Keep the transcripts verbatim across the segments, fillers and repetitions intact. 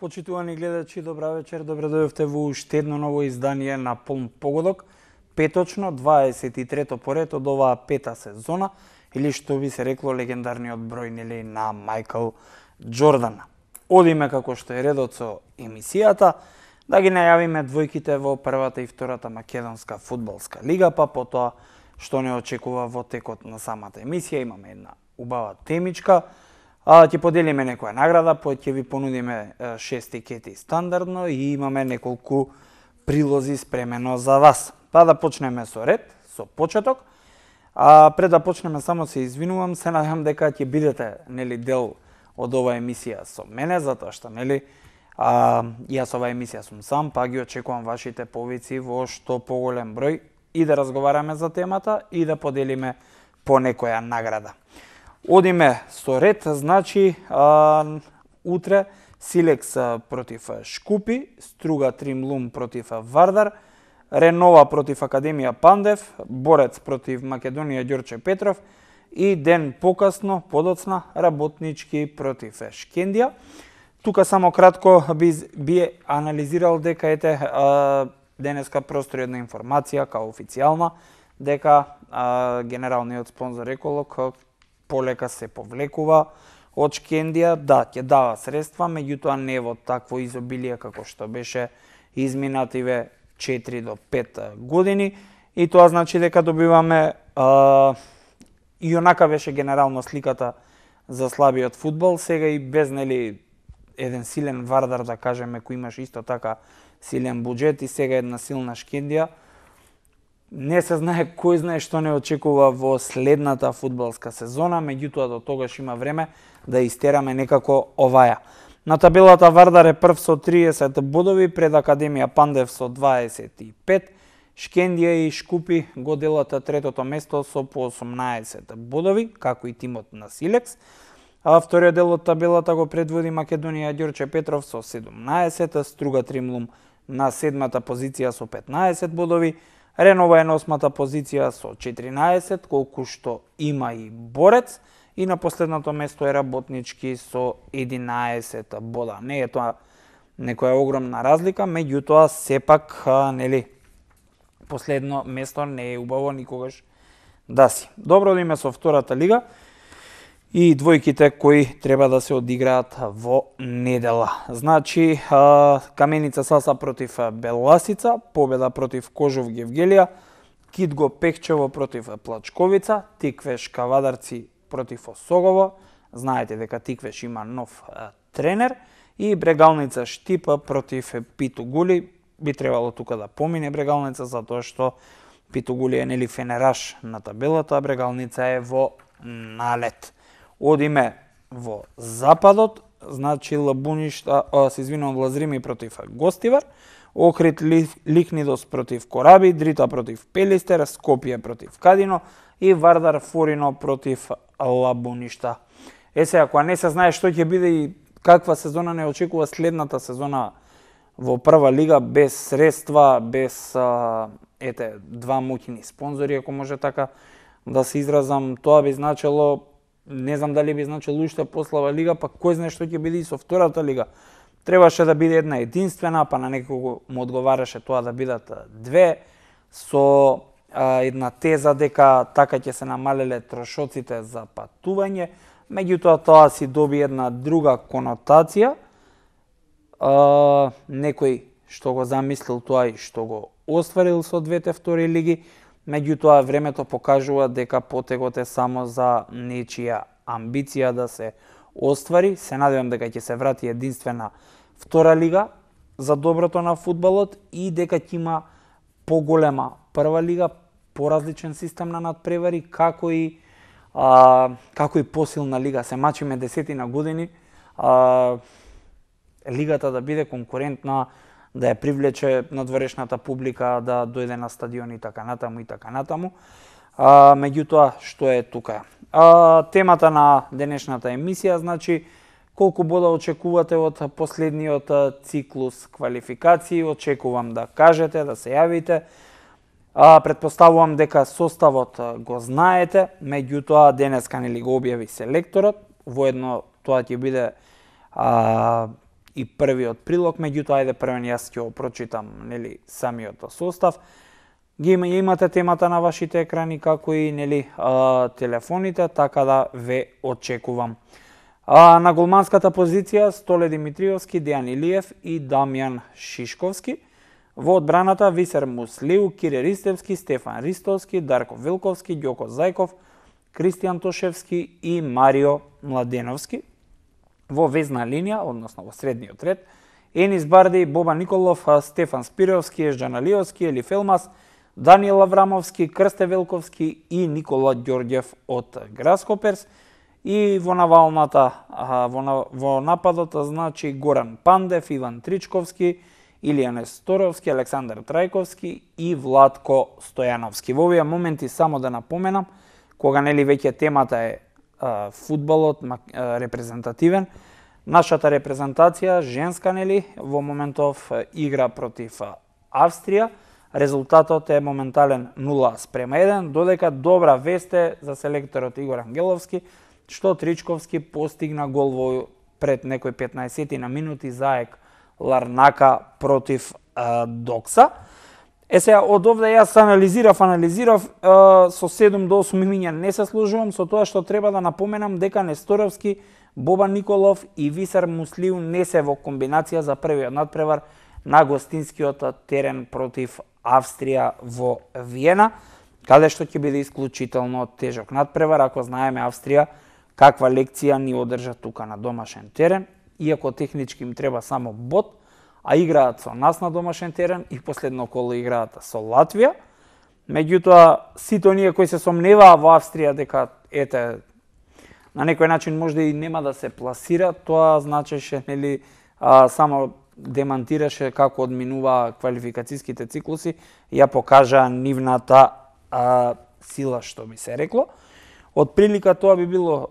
Почитувани гледачи, добра вечер, добре дојдовте во уште едно ново издание на Полн погодок, петочно, дваесет и трето поред од оваа пета сезона, или што би се рекло легендарниот број нели на Мајкл Џордан. Одиме како што е редот со емисијата, да ги најавиме двојките во првата и втората македонска фудбалска лига, па потоа што не очекува во текот на самата емисија. Имаме една убава темичка, а ќе поделиме некоја награда, па ќе ви понудиме шест тикети стандардно и имаме неколку прилози спремено за вас. Па да почнеме со ред, со почеток. А пред да почнеме само се извинувам, се надевам дека ќе бидете нели дел од оваа емисија со мене, затоа што нели а, јас оваа емисија сум сам, па ги очекувам вашите повици во што поголем број и да разговараме за темата и да поделиме по некоја награда. Одиме со ред, значи а, утре Силекс против Шкупи, Струга Тримлум против Вардар, Ренова против Академија Пандев, Борец против Македонија Ѓорче Петров и ден покасно, подоцна, Работнички против Шкендија. Тука само кратко би, би анализирал дека ете а, денеска простори една информација као официјална дека а, генералниот спонзор Еколог полека се повлекува од Шкендија, да, ќе дава средства, меѓутоа не во такво изобилие како што беше изминативе четири до пет години, и тоа значи дека добиваме а, и онака беше генерално сликата за слабиот фудбал, сега и без нели еден силен Вардар, да кажеме, кој имаш исто така силен буџет, и сега една силна Шкендија. Не се знае кој знае што не очекува во следната фудбалска сезона, меѓутоа до тогаш има време да истераме некако оваја. На табелата Вардар е прв со триесет бодови, пред Академија Пандев со дваесет и пет, Шкендија и Шкупи го делат третото место со по осумнаесет бодови, како и тимот на Силекс. А вториот дел од табелата го предводи Македонија Ѓорче Петров со седумнаесет, Струга Тримлум на седмата позиција со петнаесет бодови, Ренова е на осмата позиција со четиринаесет, колку што има и Борец, и на последното место е Работнички со единаесет бода. Не е тоа некоја огромна разлика, меѓутоа сепак нели последно место не е убаво никогаш да си. Добро да име со втората лига и двојките кои треба да се одиграат во недела. Значи, Каменица Саса против Беласица, победа против Кожов Гевгелија, Китго Пехчево против Плачковица, Тиквеш Кавадарци против Осогово, знаете дека Тиквеш има нов тренер, и Брегалница Штипа против Питугули. Би требало тука да помине Брегалница, затоа што Питугули е нели фенераш на табелата, а Брегалница е во налет. Одиме во западот, значи Лабуништа, а, се извинувам, Лазрими против Гостивар, Охрид Ликнидос против Кораби, Дрита против Пелистер, Скопје против Кадино и Вардар Форино против Лабуништа. Е се, ако не се знае што ќе биде и каква сезона не очекува следната сезона во прва лига, без средства, без а, ете два моќни спонзори, ако може така да се изразам, тоа би значело, не знам дали би значило уште послаба лига, па кој знае што ќе биде и со втората лига. Требаше да биде една единствена, па на некого му одговараше тоа да бидат две, со а, една теза дека така ќе се намалеле трошоците за патување, меѓутоа тоа си доби една друга конотација. А, некој што го замислил тоа и што го остварил со двете втори лиги, меѓутоа времето покажува дека потегот е само за нечија амбиција да се оствари. Се надевам дека ќе се врати единствена втора лига за доброто на фудбалот и дека ќе има поголема прва лига, поразличен систем на надпревари, како и а, како и посилна лига. Се мачиме десетина години, а, лигата да биде конкурентна, да ја привлече надворешната публика, да дојде на стадион и така натаму и така натаму. А, меѓутоа, што е тука? А, темата на денешната емисија, значи, колку бода очекувате од последниот циклус квалификации, очекувам да кажете, да се јавите. А, предпоставувам дека составот го знаете, меѓутоа денеска нели го објави селекторот, воедно тоа ќе биде а, и првиот прилог, меѓутоа ајде првен јас ќе го прочитам, нели, самиот состав. Ги има, имате темата на вашите екрани, како и, нели, а, телефоните, така да ве очекувам. А, на голманската позиција Столе Димитриевски, Дејан Илиев и Дамјан Шишковски. Во одбраната Висер Муслиу, Кире Ристевски, Стефан Ристовски, Дарко Вилковски, Ѓоко Зајков, Кристијан Тошевски и Марио Младеновски. Во везна линија, односно во средниот ред, Енис Барди, Боба Николов, Стефан Спировски, Ежджан Алиовски, Елиф Елмас, Даниел Аврамовски, Крсте Велковски и Никола Ѓорѓев од Граскоперс. И во навалната, во, во нападот, значи Горан Пандев, Иван Тричковски, Илија Несторовски, Александар Трајковски и Владко Стојановски. Во овие моменти само да напоменам, кога нели веќе темата е а, фудбалот а, репрезентативен, нашата репрезентација женска нели во моментов игра против Австрија. Резултатот е моментален нула спрема еден, додека добра вест е за селекторот Игор Ангеловски, што Тричковски постигна гол во пред некои петнаесет на минути за АЕК Ларнака против а, Докса. Е сега, од овде јас анализирав, анализирав, а, со седум до осум имиња не се служувам, со тоа што треба да напоменам дека Несторовски, Боба Николов и Висер Муслиу не се во комбинација за првиот надпревар на гостинскиот терен против Австрија во Виена, каде што ќе биде исклучително тежок надпревар, ако знаеме Австрија каква лекција ни одржа тука на домашен терен, иако технички им треба само бод, а играат со нас на домашен терен и последно коло играат со Латвија. Меѓутоа, сите оние кои се сомневаа во Австрија дека ете на некој начин можда и нема да се пласира, тоа значеше нели а, само демантираше како одминува квалификацијските циклуси, ја покажа нивната а, сила, што би се рекло. Од прилика тоа би било е,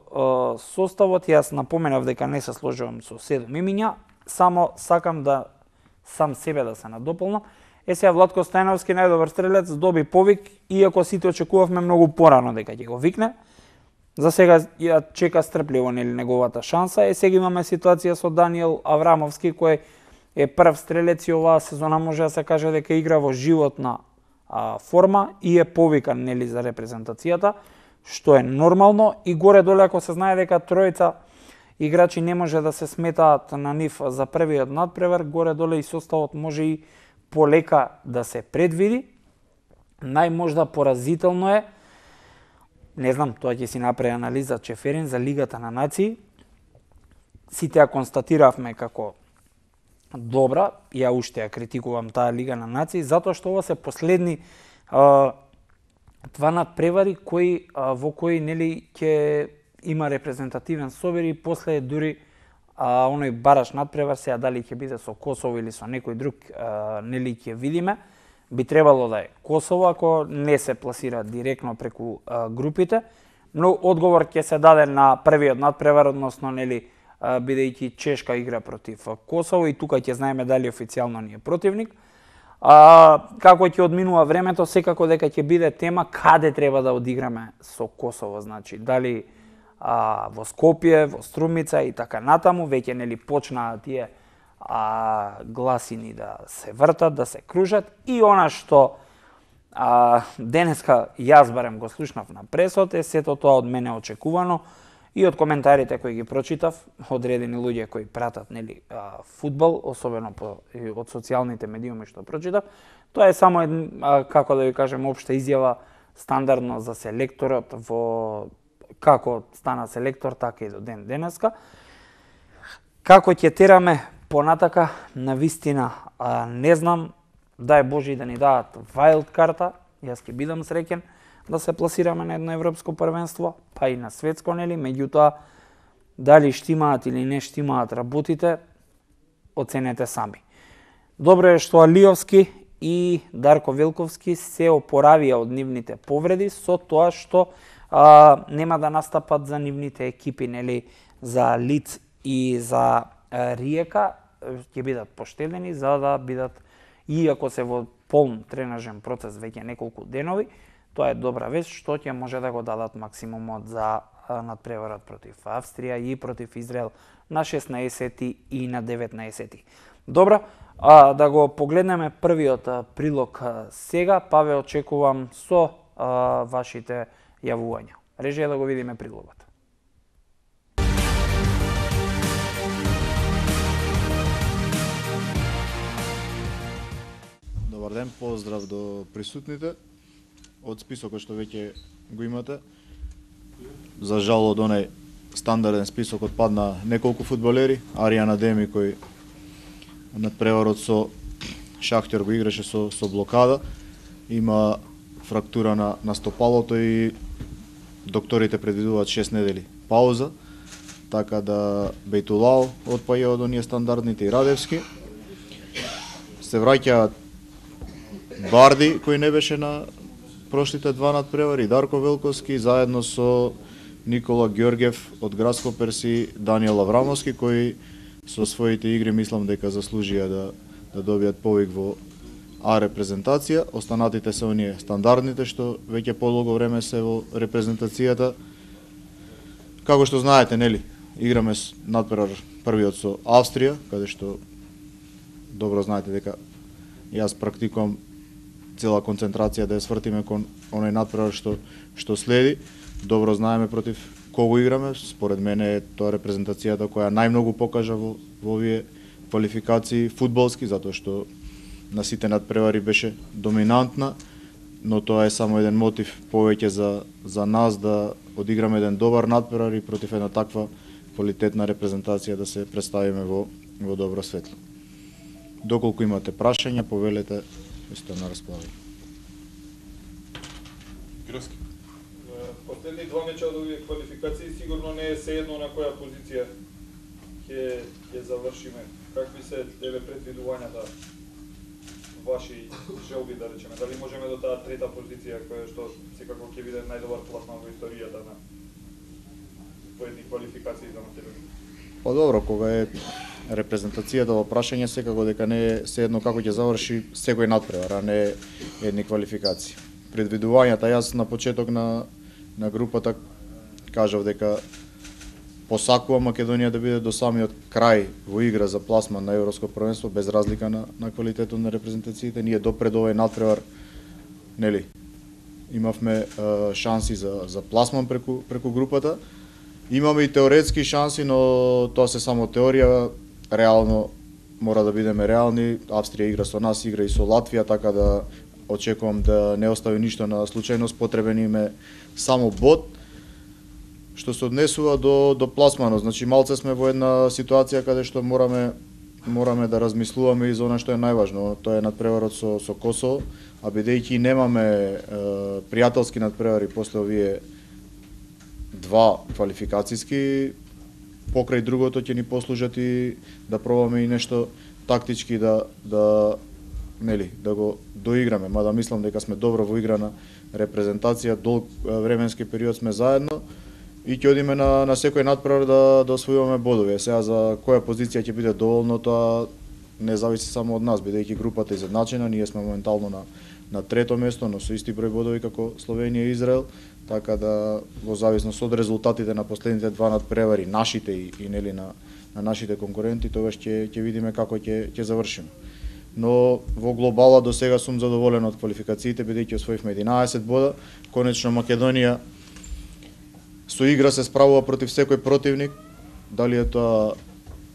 составот, јас напоменав дека не се сложувам со седум имиња, само сакам да сам себе да се надополнам. Е сега Владко Стојановски, најдобар стрелец, доби повик, иако сите очекувавме многу порано дека ќе го викне. За сега ја чека стрпливо нели неговата шанса. Е сега имаме ситуација со Даниел Аврамовски, кој е прв стрелец и оваа сезона може да се каже дека игра во животна а, форма и е повикан нели за репрезентацијата, што е нормално и горе-доле ако се знае дека тројца играчи не може да се сметаат на нив за првиот надпревар, горе-доле и составот може и полека да се предвиди. Најможда поразително е, не знам, тоа ќе си направи анализа Чеферин за Лигата на нации. Сите ја констатиравме како добра, ја уште ја критикувам таа Лига на нации, затоа што ова се последни а, два надпревари кои а, во кои нели ќе има репрезентативен собир и после дури а, оној бараш надпревар, сега дали ќе биде со Косово или со некој друг, а, нели ќе видиме. Би требало да е Косово ако не се пласира директно преку а, групите, но одговор ќе се даде на првиот надпревар, односно нели бидејќи Чешка игра против Косово и тука ќе знаеме дали официјално ни е противник. А, како ќе одминува времето, секако дека ќе биде тема каде треба да одиграме со Косово, значи дали а, во Скопје, во Струмица и така натаму, веќе нели почнаа тие а, гласини да се вртат, да се кружат и она што а, денеска јас барем го слушнав на пресот е сето тоа од мене очекувано и од коментарите кои ги прочитав, одредени луѓе кои пратат нели а, фудбал, особено по, од социјалните медиуми што прочитав. Тоа е само а, како да ви кажем општа изјава стандардно за селекторот во како стана селектор, така и до ден денеска. Како ќе тераме понатака, на вистина а, не знам, дај Боже да ни дадат вајлд карта, јас ќе бидам среќен да се пласираме на едно европско првенство, па и на светско, нели, меѓутоа дали штимаат или не штимаат работите, оценете сами. Добро е што Алиовски и Дарко Велковски се опоравија од нивните повреди со тоа што а, нема да настапат за нивните екипи, нели, за Лиц и за а, Риека, ќе бидат поштедени за да бидат, иако се во полн тренажен процес веќе неколку денови, тоа е добра вест што ќе може да го дадат максимумот за надпреварот против Австрија и против Израел на шеснаесети и на деветнаесети. Добро, а, да го погледнеме првиот прилог сега, па ве очекувам со а, вашите јавувања. Режија да го видиме прилогот. Добар ден, поздрав до присутните. Од списокот што веќе го имате, за жал од онај стандарден список отпадна неколку фудбалери. Аријан Адеми кој надпреварот со Шахтер го играше со, со блокада, има фрактура на, на стопалото и докторите предвидуваат шест недели пауза, така да Бейтулао отпаја од оние стандардните и Радевски. Се враќаат Барди кој не беше на прошлите два надпревари, Дарко Велковски заедно со Никола Ѓорѓев од Градско Перси, Даниел Аврамовски кој со своите игри мислам дека заслужија да да добијат повик во А репрезентација. Останатите се оние стандардните што веќе подолго време се во репрезентацијата. Како што знаете, нели, играме надпревар првиот со Австрија, каде што добро знаете дека јас практикувам цела концентрација да ја свртиме кон оној надпревар што што следи. Добро знаеме против кого играме. Според мене е тоа репрезентацијата која најмногу покажа во, во овие квалификации фудбалски, затоа што на сите надпревари беше доминантна, но тоа е само еден мотив повеќе за, за нас да одиграме еден добар надпревар и против една таква квалитетна репрезентација да се представиме во, во добро светло. Доколку имате прашања, повелете, сте на располагање. Грски. Последни два меча од овие квалификации сигурно не е sejedno на која позиција ќе ќе завршиме. Какви се деве предвидувањата ваши желби, да речеме? Дали можеме до таа трета позиција која што секако ќе биде најдобар пласман во историјата на поедни квалификации за Македонија? Па добро, кога е репрезентацијата во прашање, секако дека не е sejedno како ќе заврши секој надпревар, а не едни квалификации. Предвидувањата, јас на почеток на на групата кажав дека посакувам Македонија да биде до самиот крај во игра за пласман на Европско првенство, без разлика на, на квалитетот на репрезентациите. Ние допред овој надпревар, нели, имавме е, шанси за, за пласман преку, преку групата. Имаме и теоретски шанси, но тоа се само теорија. Реално мора да бидеме реални. Австрија игра со нас, игра и со Латвија, така да очекувам да не остави ништо на случајност. Потребен им е само бод. Што се однесува до до пласманот, значи малце сме во една ситуација каде што мораме мораме да размислуваме и за она што е најважно. Тоа е надпреварот со со Косово, а бидејќи немаме е, пријателски надпревари после овие два квалификацијски, покрај другото ќе ни послужат и да пробаме и нешто тактички да да нели да го доиграме, мада мислам дека сме добро во игра на репрезентација, долг временски период сме заедно и ќе одиме на на секој надпревар да да освојуваме бодови. Сега за која позиција ќе биде доволно, тоа не зависи само од нас, бидејќи групата е изедначена, ние сме моментално на на трето место, но со исти број бодови како Словенија и Израел, така да во зависност од резултатите на последните два надпревари, нашите и, и нели на на нашите конкуренти, тогаш ќе ќе видиме како ќе ќе завршиме. Но во глобала до сега сум задоволен од квалификациите, бидејќи освоивме единаесет бода. Конечно Македонија со игра се справува против секој противник, дали е тоа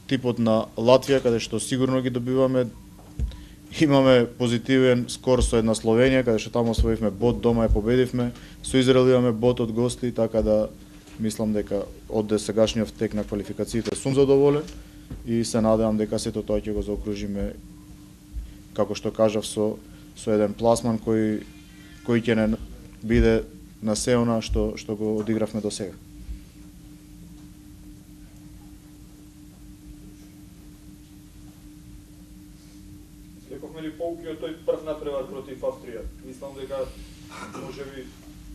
типот на Латвија, каде што сигурно ги добиваме. Имаме позитивен скор со една Словенија, каде што таму освоивме бод, дома ја победивме. Со Израел имаме бод од гости, така да мислам дека од досегашниот тек на квалификациите сум задоволен и се надевам дека сето тоа ќе го заокружиме, како што кажав, со со еден пласман кој кој ќе не биде на се она што што го одигравме до сега. Лековме ли поуки од тој прв надпревар против Австрија? Мислам дека можеби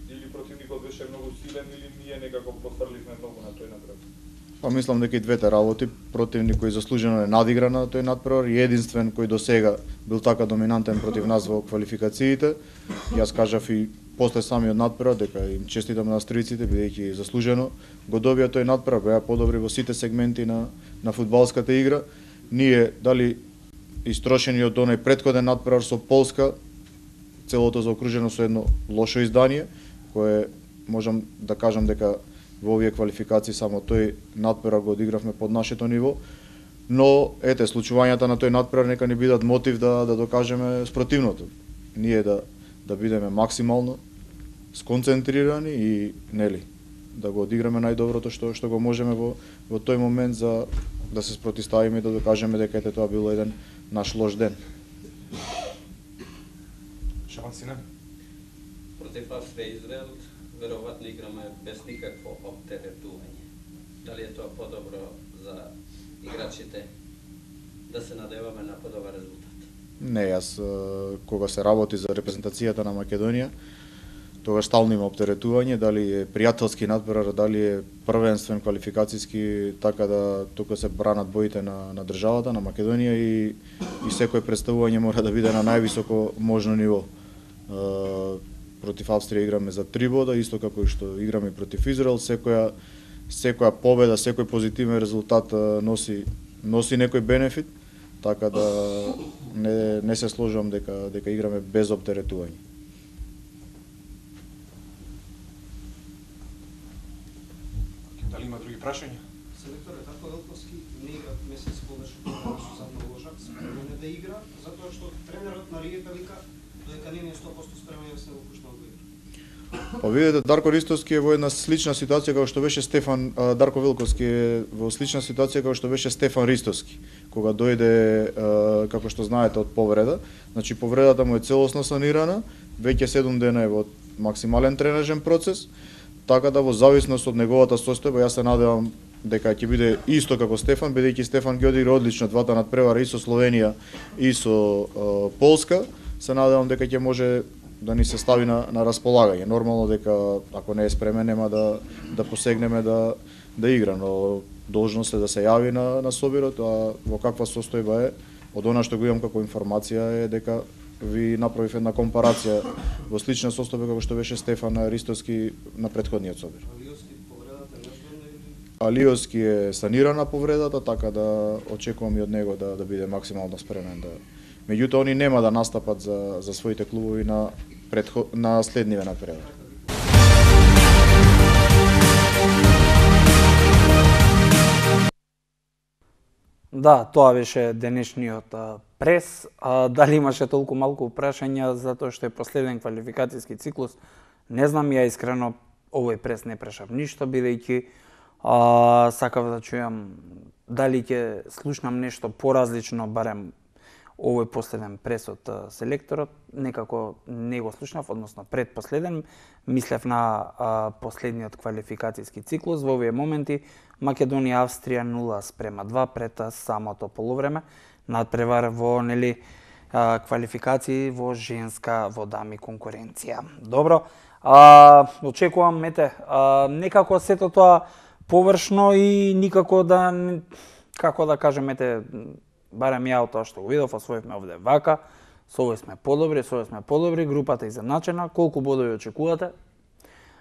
или противникот беше многу силен или ние некако пофрливме многу на тој надпревар. Па мислам дека и двете работи, противник кој заслужено е надигра на тој надпревар и единствен кој до сега бил така доминантен против нас во квалификациите. Јас кажав и после самиот надпревар дека им честитам на австријците бидејќи заслужено го добија тој надпревар, беа подобри во сите сегменти на на фудбалската игра. Ние дали истрошени од оној претходен надпревар со Полска, целото заокружено со едно лошо издание, кое можам да кажам дека во овие квалификации само тој надпревар го одигравме под нашето ниво, но ете случувањата на тој надпревар нека ни бидат мотив да да докажеме спротивното. Ние да да бидеме максимално сконцентрирани и нели да го одиграме најдоброто што што го можеме во во тој момент за да се спротивставиме и да докажеме дека ете тоа било еден наш лош ден. Шансина. Против Австрија и Израел веројатно играме без никакво оптеретување. Дали е тоа подобро за играчите да се надеваме на подобар резултат? Не, јас кога се работи за репрезентацијата на Македонија, тогаш стално има оптеретување, дали е пријателски надпревар, дали е првенствен квалификацијски, така да тука се бранат боите на на државата, на Македонија и и секој представување мора да биде на највисоко можно ниво. Uh, против Австрија играме за три бода, исто како и што играме против Израел. Секоја секоја победа, секој позитивен резултат uh, носи носи некој бенефит, така да не не се сложувам дека дека играме без оптеретување. Дали има други прашања? Селекторот Дарко Велковски не игра месец повеќе од Сузан Ложак, спремен да игра, затоа што тренерот на Риека вика дека не е сто проценти спремен да се го пушта да игра. Па видите, Дарко Ристовски е во една слична ситуација како што беше Стефан а, Дарко Велковски е во слична ситуација како што беше Стефан Ристовски, кога дојде а, како што знаете од повреда. Значи повредата му е целосно санирана, веќе седум дена е во максимален тренажен процес, така да во зависност од неговата состојба јас се надевам дека ќе биде исто како Стефан, бидејќи Стефан ги одигра одлично двата надпревара и со Словенија и со а, Полска. Се надевам дека ќе може да ни се стави на, на располагање. Нормално дека ако не е спремен нема да да посегнеме да да игра, но должност е да се јави на на собирот, а во каква состојба е, од она што го имам како информација е дека ви направив една компарација во слична состојба како што беше Стефан Ристовски на претходниот собир. Алиоски повредата неожино или Алиоски е санирана повредата, така да очекувам и од него да да биде максимално спремен да. Меѓутоа они нема да настапат за за своите клубови на предход на следниве надпревари. Да, тоа беше денешниот а, прес. А, дали имаше толку малку прашања затоа што е последен квалификацијски циклус, не знам, ја искрено овој прес не прешав ништо, бидејќи а, сакав да чујам дали ќе слушнам нешто поразлично, барем овој последен прес од селекторот, некако не го слушнав, односно предпоследен, мислев на а, последниот квалификацијски циклус. Во овие моменти Македонија Австрија нула спрема два пред самото полувреме, надпревар во нели а, квалификации во женска во дами конкуренција. Добро, а, очекувам ете, а, некако сето тоа површно и никако да како да кажем ете барем ја од тоа што го видов, освоивме овде вака, со овој сме подобри, со овој сме подобри, групата изедначена, колку бодови очекувате?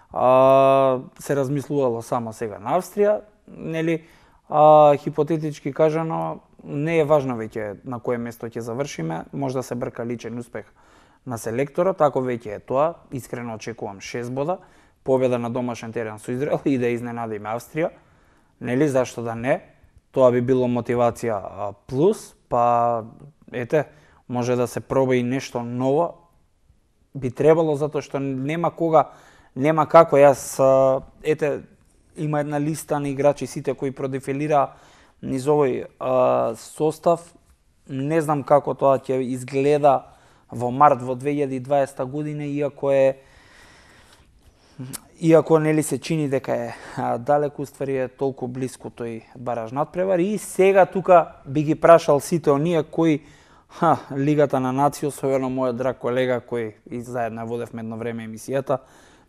А, се размислувало само сега на Австрија, нели, а, хипотетички кажано, не е важно веќе на кое место ќе завршиме, може да се брка личен успех на селекторот, ако веќе е тоа, искрено очекувам шест бода, победа на домашен терен со Израел и да изненадиме Австрија, нели, зашто да не? Тоа би било мотивација плюс, па ете, може да се проба и нешто ново. Би требало затоа што нема кога, нема како. Јас ете има една листа на играчи сите кои продефилира низ овој а, состав. Не знам како тоа ќе изгледа во март во две илјади и дваесета година, иако е Иако нели се чини дека е а, далеку, уствари е толку блиску тој бараж надпревар. И сега тука би ги прашал сите оние кои ха, Лигата на нации, особено мојот драг колега кој и заедно водевме едно време емисијата,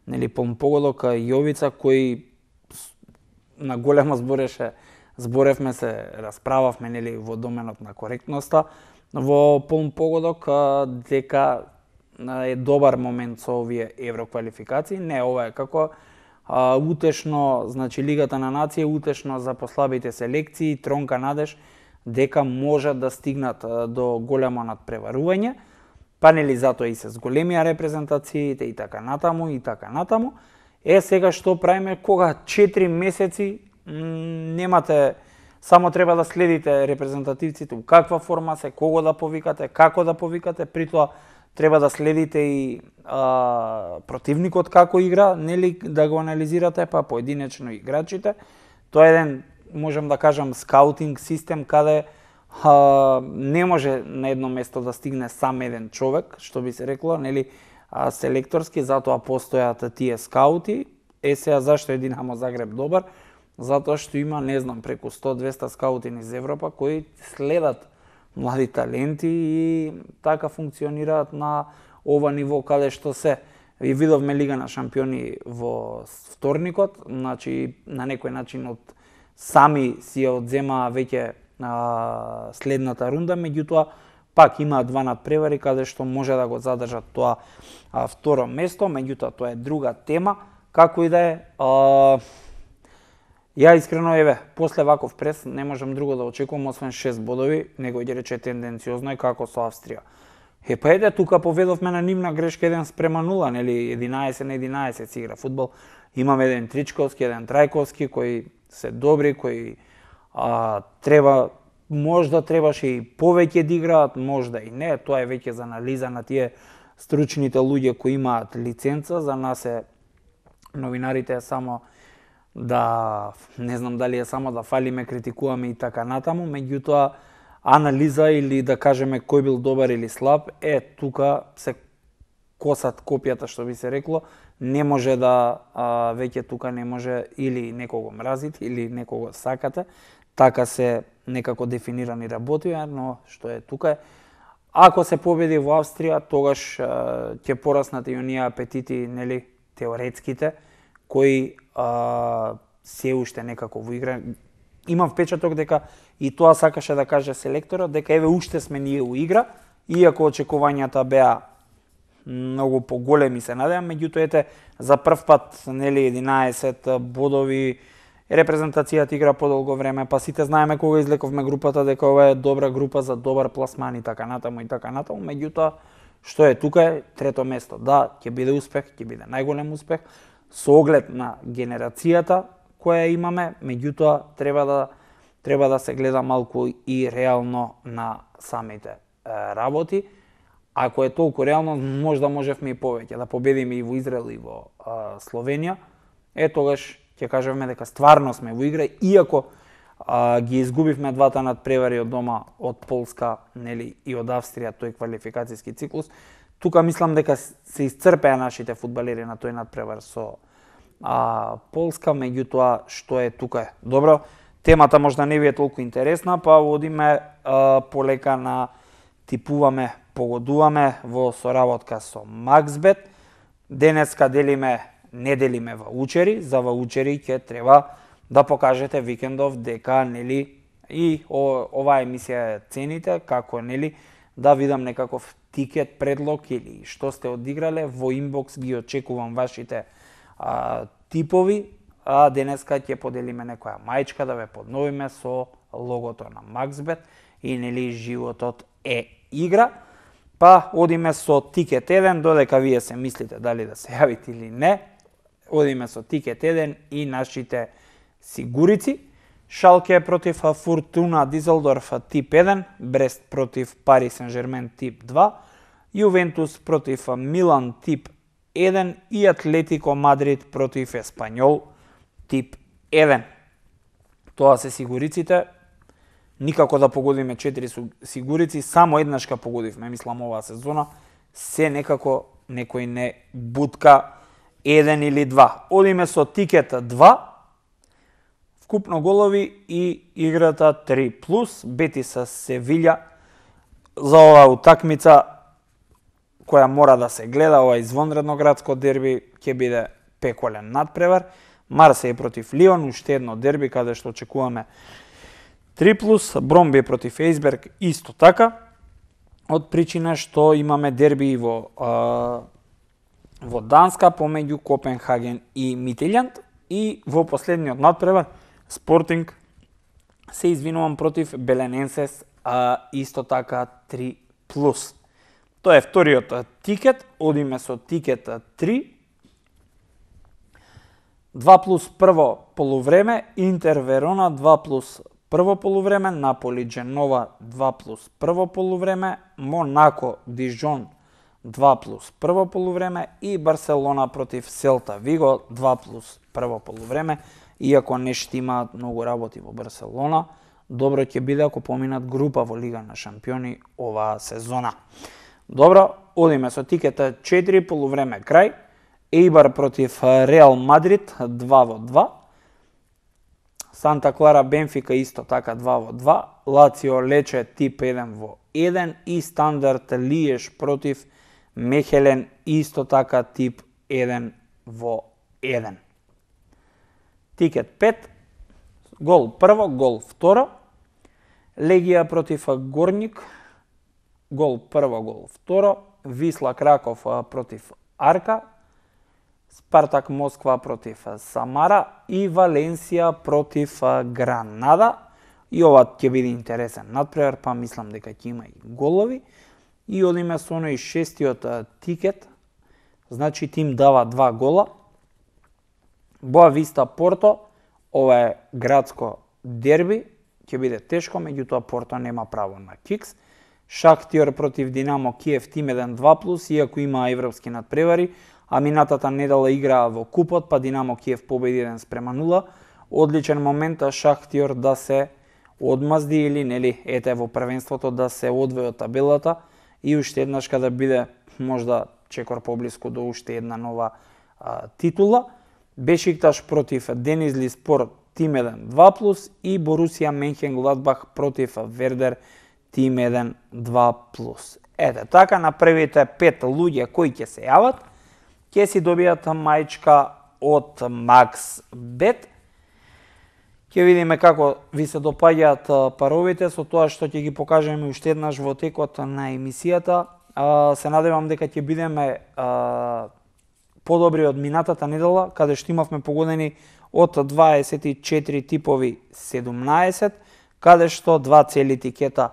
нели Полн погодок, Јовица, кој на големо збореше, зборевме се, расправавме нели во доменот на коректноста, во Полн погодок дека е добар момент со овие евроквалификации. Не, ова е како а, утешно, значи Лигата на нација утешно за послабите селекции, тронка надеж дека можат да стигнат а, до големо надпреварување, па нели затоа и се зголемија репрезентациите и така натаму и така натаму. Е, сега што правиме кога четири месеци немате, само треба да следите репрезентативците, у каква форма се, кого да повикате, како да повикате, при тоа треба да следите и а, противникот како игра, нели да го анализирате, па поединечно играчите. Тоа е еден, можам да кажам, скаутинг систем каде а, не може на едно место да стигне сам еден човек, што би се рекло, нели, а, селекторски, затоа постојат тие скаути. Е, сега зашто е Динамо Загреб добар? Затоа што има, не знам, преку сто до двесте скаути низ Европа кои следат млади таленти и така функционираат на ова ниво каде што се. И видовме Лига на шампиони во вторникот, значи на некој начин од сами си ја одзема веќе а, следната рунда, меѓутоа пак има два надпревари каде што може да го задржат тоа а, второ место, меѓутоа тоа е друга тема. Како и да е, а, ја искрено, еве, после ваков прес не можам друго да очекувам освен шест бодови, него ќе рече тенденциозно и како со Австрија. Е, па еде, тука поведовме на нивна грешка еден спрема нула, нели, единаесет на единаесет си игра фудбал. Имаме еден Тричковски, еден Трајковски, кои се добри, кои а, треба, можда требаше и повеќе да играат, можда и не, тоа е веќе за анализа на тие стручните луѓе кои имаат лиценца, за нас е новинарите е само да, не знам дали е само да фалиме, критикуваме и така натаму, меѓутоа анализа или да кажеме кој бил добар или слаб, е тука се косат копијата, што би се рекло, не може да, а, веќе тука не може или некого мразите или некого сакате, така се некако дефинирани работија, но што е тука е, ако се победи во Австрија, тогаш а, ќе пораснат и оние апетити, нели, теоретските, кои а, се уште некако во игра. Имам впечаток дека и тоа сакаше да каже селекторот, дека еве уште сме ние у игра, иако очекувањата беа многу поголеми, се надевам, меѓутоа ете за прв пат, нели, единаесет бодови, репрезентацијата игра подолго време, па сите знаеме кога излековме групата дека ова е добра група за добар пласман и така натаму и така натаму, меѓутоа што е тука е трето место. Да, ќе биде успех, ќе биде најголем успех со оглед на генерацијата која имаме, меѓутоа треба да треба да се гледа малку и реално на самите е, работи. Ако е толку реално, можда можевме и повеќе да победиме и во Израел и во а, Словенија. Е тогаш ќе кажеме дека стварно сме во игра, иако а, ги изгубивме двата надпревари од дома од Полска, нели, и од Австрија тој квалификацијски циклус. Тука мислам дека се исцрпеа нашите фудбалери на тој надпревар со а, Полска, меѓутоа што е тука е. Добро, темата можда не ви е толку интересна, па одиме а, полека на типуваме, погодуваме во соработка со Максбет. Денеска делиме, не делиме ваучери, за ваучери ќе треба да покажете викендов дека, нели, и о, оваа емисија цените, како, нели, да видам некаков тикет, предлог или што сте одиграле, во инбокс ги очекувам вашите а, типови, а денеска ќе поделиме некоја мајчка да ве подновиме со логото на Максбет и, нели, животот е игра. Па одиме со тикет еден, додека вие се мислите дали да се јавите или не. Одиме со тикет еден и нашите сигурици. Шалке против Фортуна Дизелдорф тип еден, Брест против Пари Сен-Жермен тип два, Јувентус против Милан тип еден и Атлетико Мадрид против Еспањол тип еден. Тоа се сигуриците. Никако да погодиме четири сигурици, само еднашка погодивме, мислам, оваа сезона. Се некако некој не бутка еден или два. Одиме со тикет два, вкупно голови и играта три плюс, Бетис Севиља за оваа утакмица која мора да се гледа, ова извонредно градско дерби ќе биде пеколен надпревар. Марсеј против Лион, уште едно дерби каде што очекуваме три плюс, Бромби против Ејсберг исто така. од причина што имаме дерби во а, во Данска помеѓу Копенхаген и Митилјанд и во последниот натпревар Спортинг се извинувам против Белененсес, а исто така три плюс. Тоа е вториот тикет, одиме со тикет три. два плюс прво полувреме, Интер Верона два плюс прво полувреме, Наполи Дженова два плюс прво полувреме, Монако Дижон два плюс прво полувреме и Барселона против Селта Виго два плюс прво полувреме. Иако не ще имаат многу работи во Барселона, добро ќе биде ако поминат група во Лига на шампиони оваа сезона. Добро, одиме со тикета четири полувреме крај. Ейбар против Реал Мадрид два во два. Санта Клара Бенфика исто така два во два. Лацио Лече тип еден во еден и Стандард Лиеш против Мехелен исто така тип еден во еден. Тикет пет, гол прво, гол второ. Легија против Горник, гол прво, гол второ. Висла Краков против Арка. Спартак Москва против Самара и Валенсија против Гранада. И ова ќе биде интересен натпревар, па мислам дека ќе има и голови. И одиме со оној шестиот тикет, значи тим дава два гола. Боа Виста Порто, ова е градско дерби, ќе биде тешко, меѓутоа Порто нема право на кикс. Шахтиор против Динамо Киев, тим еден два плюс, иако има европски надпревари, а минатата недела играа во купот, па Динамо Киев победи еден спрема нула. Одличен момент Шахтиор да се одмазди или нели ете во првенството да се одвои од табелата и уште еднаш када биде можда чекор поблиску до уште една нова а, титула. Бешикташ против Денизли Спор, тим еден два плюс и Борусија Менхенгладбах против Вердер, тим еден два плюс. Ете, така на првите пет луѓе кои ќе се јават, ќе си добијат мајчка од MaxBet. Ќе видиме како ви се допаѓаат паровите со тоа што ќе ги покажеме уште еднаш во текот на емисијата. Се надевам дека ќе бидеме подобри од минатата недела, каде што имавме погодени од дваесет и четири типови седумнаесет, каде што два цели тикета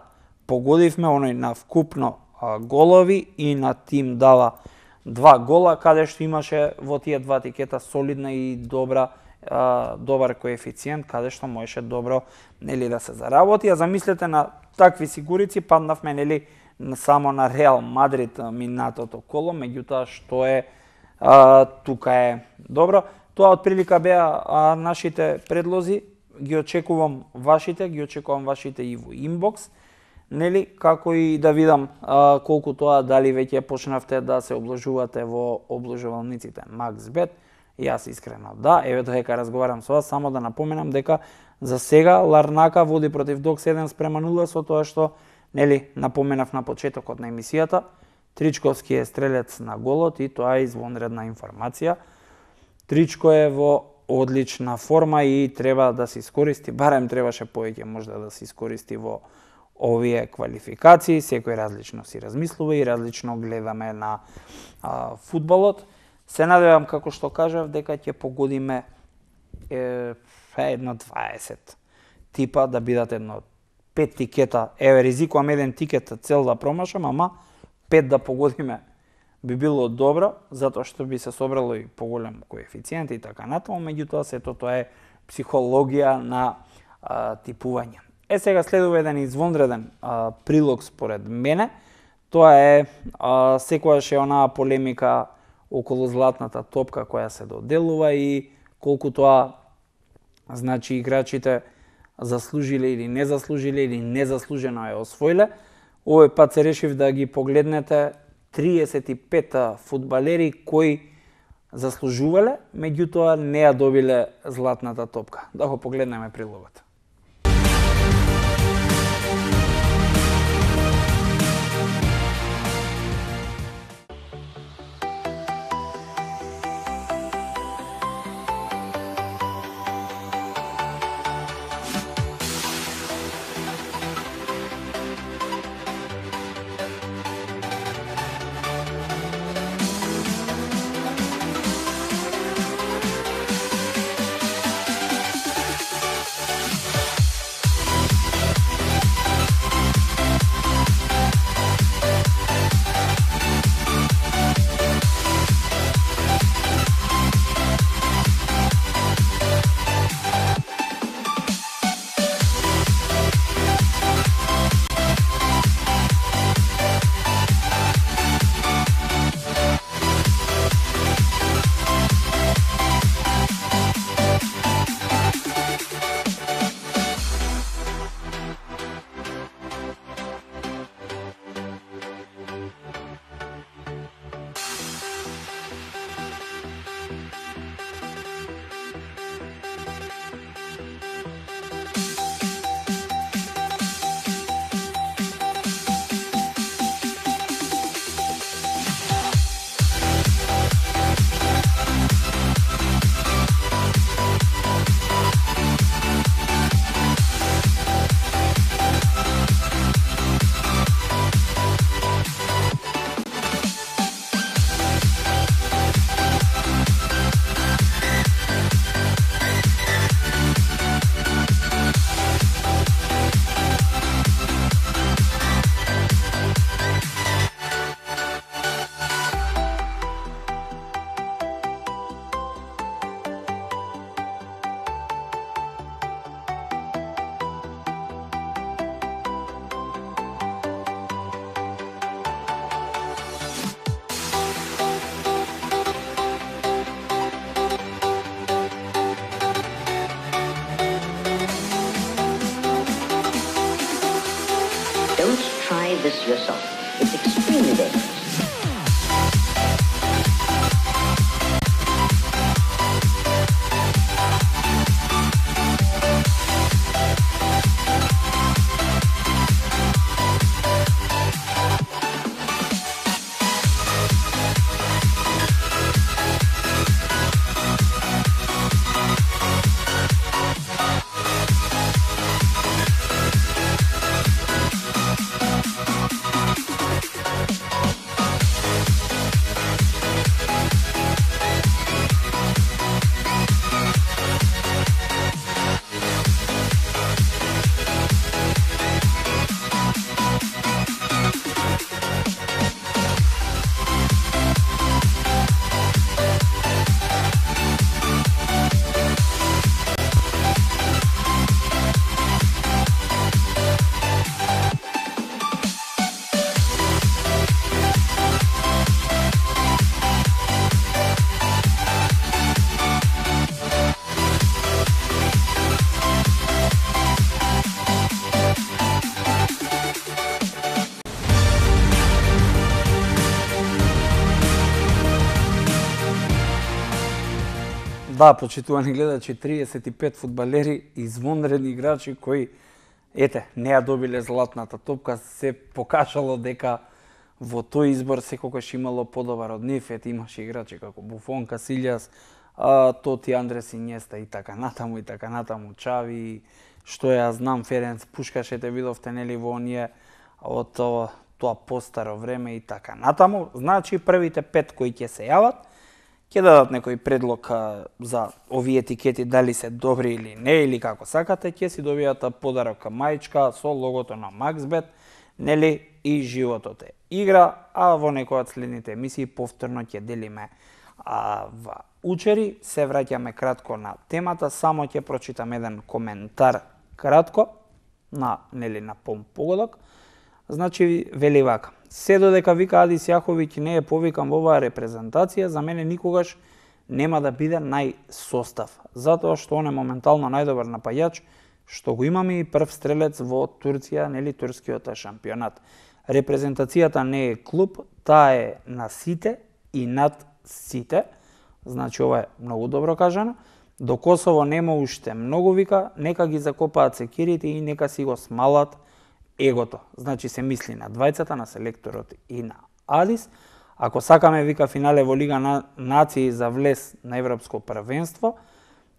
погодивме, оној на вкупно голови и на тим дава два гола, каде што имаше во тие два тикета солидна и добра добар коефициент, каде што можеше добро нели да се заработи. А замислете на такви сигурици, паднавме нели само на Реал Мадрид минатото коло, меѓутоа што е а, тука е добро. Тоа отприлика беа а, нашите предлози, ги очекувам вашите, ги очекувам вашите и во инбокс, нели, како и да видам а, колку тоа дали веќе почнавте да се обложувате во обложувалниците MaxBet. Јас искрено да, еве додека разговарам со вас, само да напоменам дека за сега Ларнака води против Док седем спрема нула, со тоа што нели напоменав на почетокот на емисијата, Тричковски е стрелец на голот и тоа е извонредна информација. Тричко е во одлична форма и треба да се искористи, барем требаше повеќе можда да се искористи во овие квалификации. Секој различно си размислува и различно гледаме на а, фудбалот. Се надевам, како што кажав, дека ќе погодиме е, едно дваесет типа, да бидат едно пет тикета. Еве, ризикувам еден тикет цел да промашам, ама пет да погодиме би било добро, затоа што би се собрало и поголем коефициент и така натаму, меѓутоа сето тоа е психологија на а, типување. Е, сега следува еден извонреден а, прилог според мене. Тоа е а, секогаш е онаа полемика околу златната топка која се доделува и колку тоа значи играчите заслужиле или не заслужиле или незаслужено е освоиле. Овој пат се решив да ги погледнете триесет и пет фудбалери кои заслужувале, меѓутоа не ја добиле златната топка. Да го погледнеме прилогот. dangerous yourself. It's extremely dangerous. Да, почитувани гледачи, триесет и пет фудбалери, извонредни играчи кои, ете, не ја добиле златната топка, се покажало дека во тој избор секогаш имало подобар од нив. Ете, имаше играчи како Буфон, Касилјас, а, Тоти, Андрес Инјеста и така натаму, и така натаму, Чави, што ја знам, Ференц Пушкаш, ете видовте, нели, во оние од тоа, тоа постаро време и така натаму. Значи, првите пет кои ќе се јават, ќе дадат некој предлог а, за овие етикети, дали се добри или не, или како сакате, ќе си добијат подарок мајчка со логото на Максбет, нели, и животот е игра, а во некој од следните емисии повторно ќе делиме а, ва учери. Се враќаме кратко на темата, само ќе прочитам еден коментар кратко на, нели, на полн погодок. Значи, вели вака: се додека вика Адис Јаховиќ не е повикан во оваа репрезентација, за мене никогаш нема да биде најсостав, затоа што он е моментално најдобар напаѓач што го имаме и прв стрелец во Турција, нели, турскиот шампионат. Репрезентацијата не е клуб, таа е на сите и над сите. Значи, ова е многу добро кажано. До Косово нема уште многу, вика, нека ги закопаат секирите и нека си го смалат егото. Значи, се мисли на двајцата, на селекторот и на Адис. Ако сакаме, вика, финале во Лига на нации за влез на Европско првенство,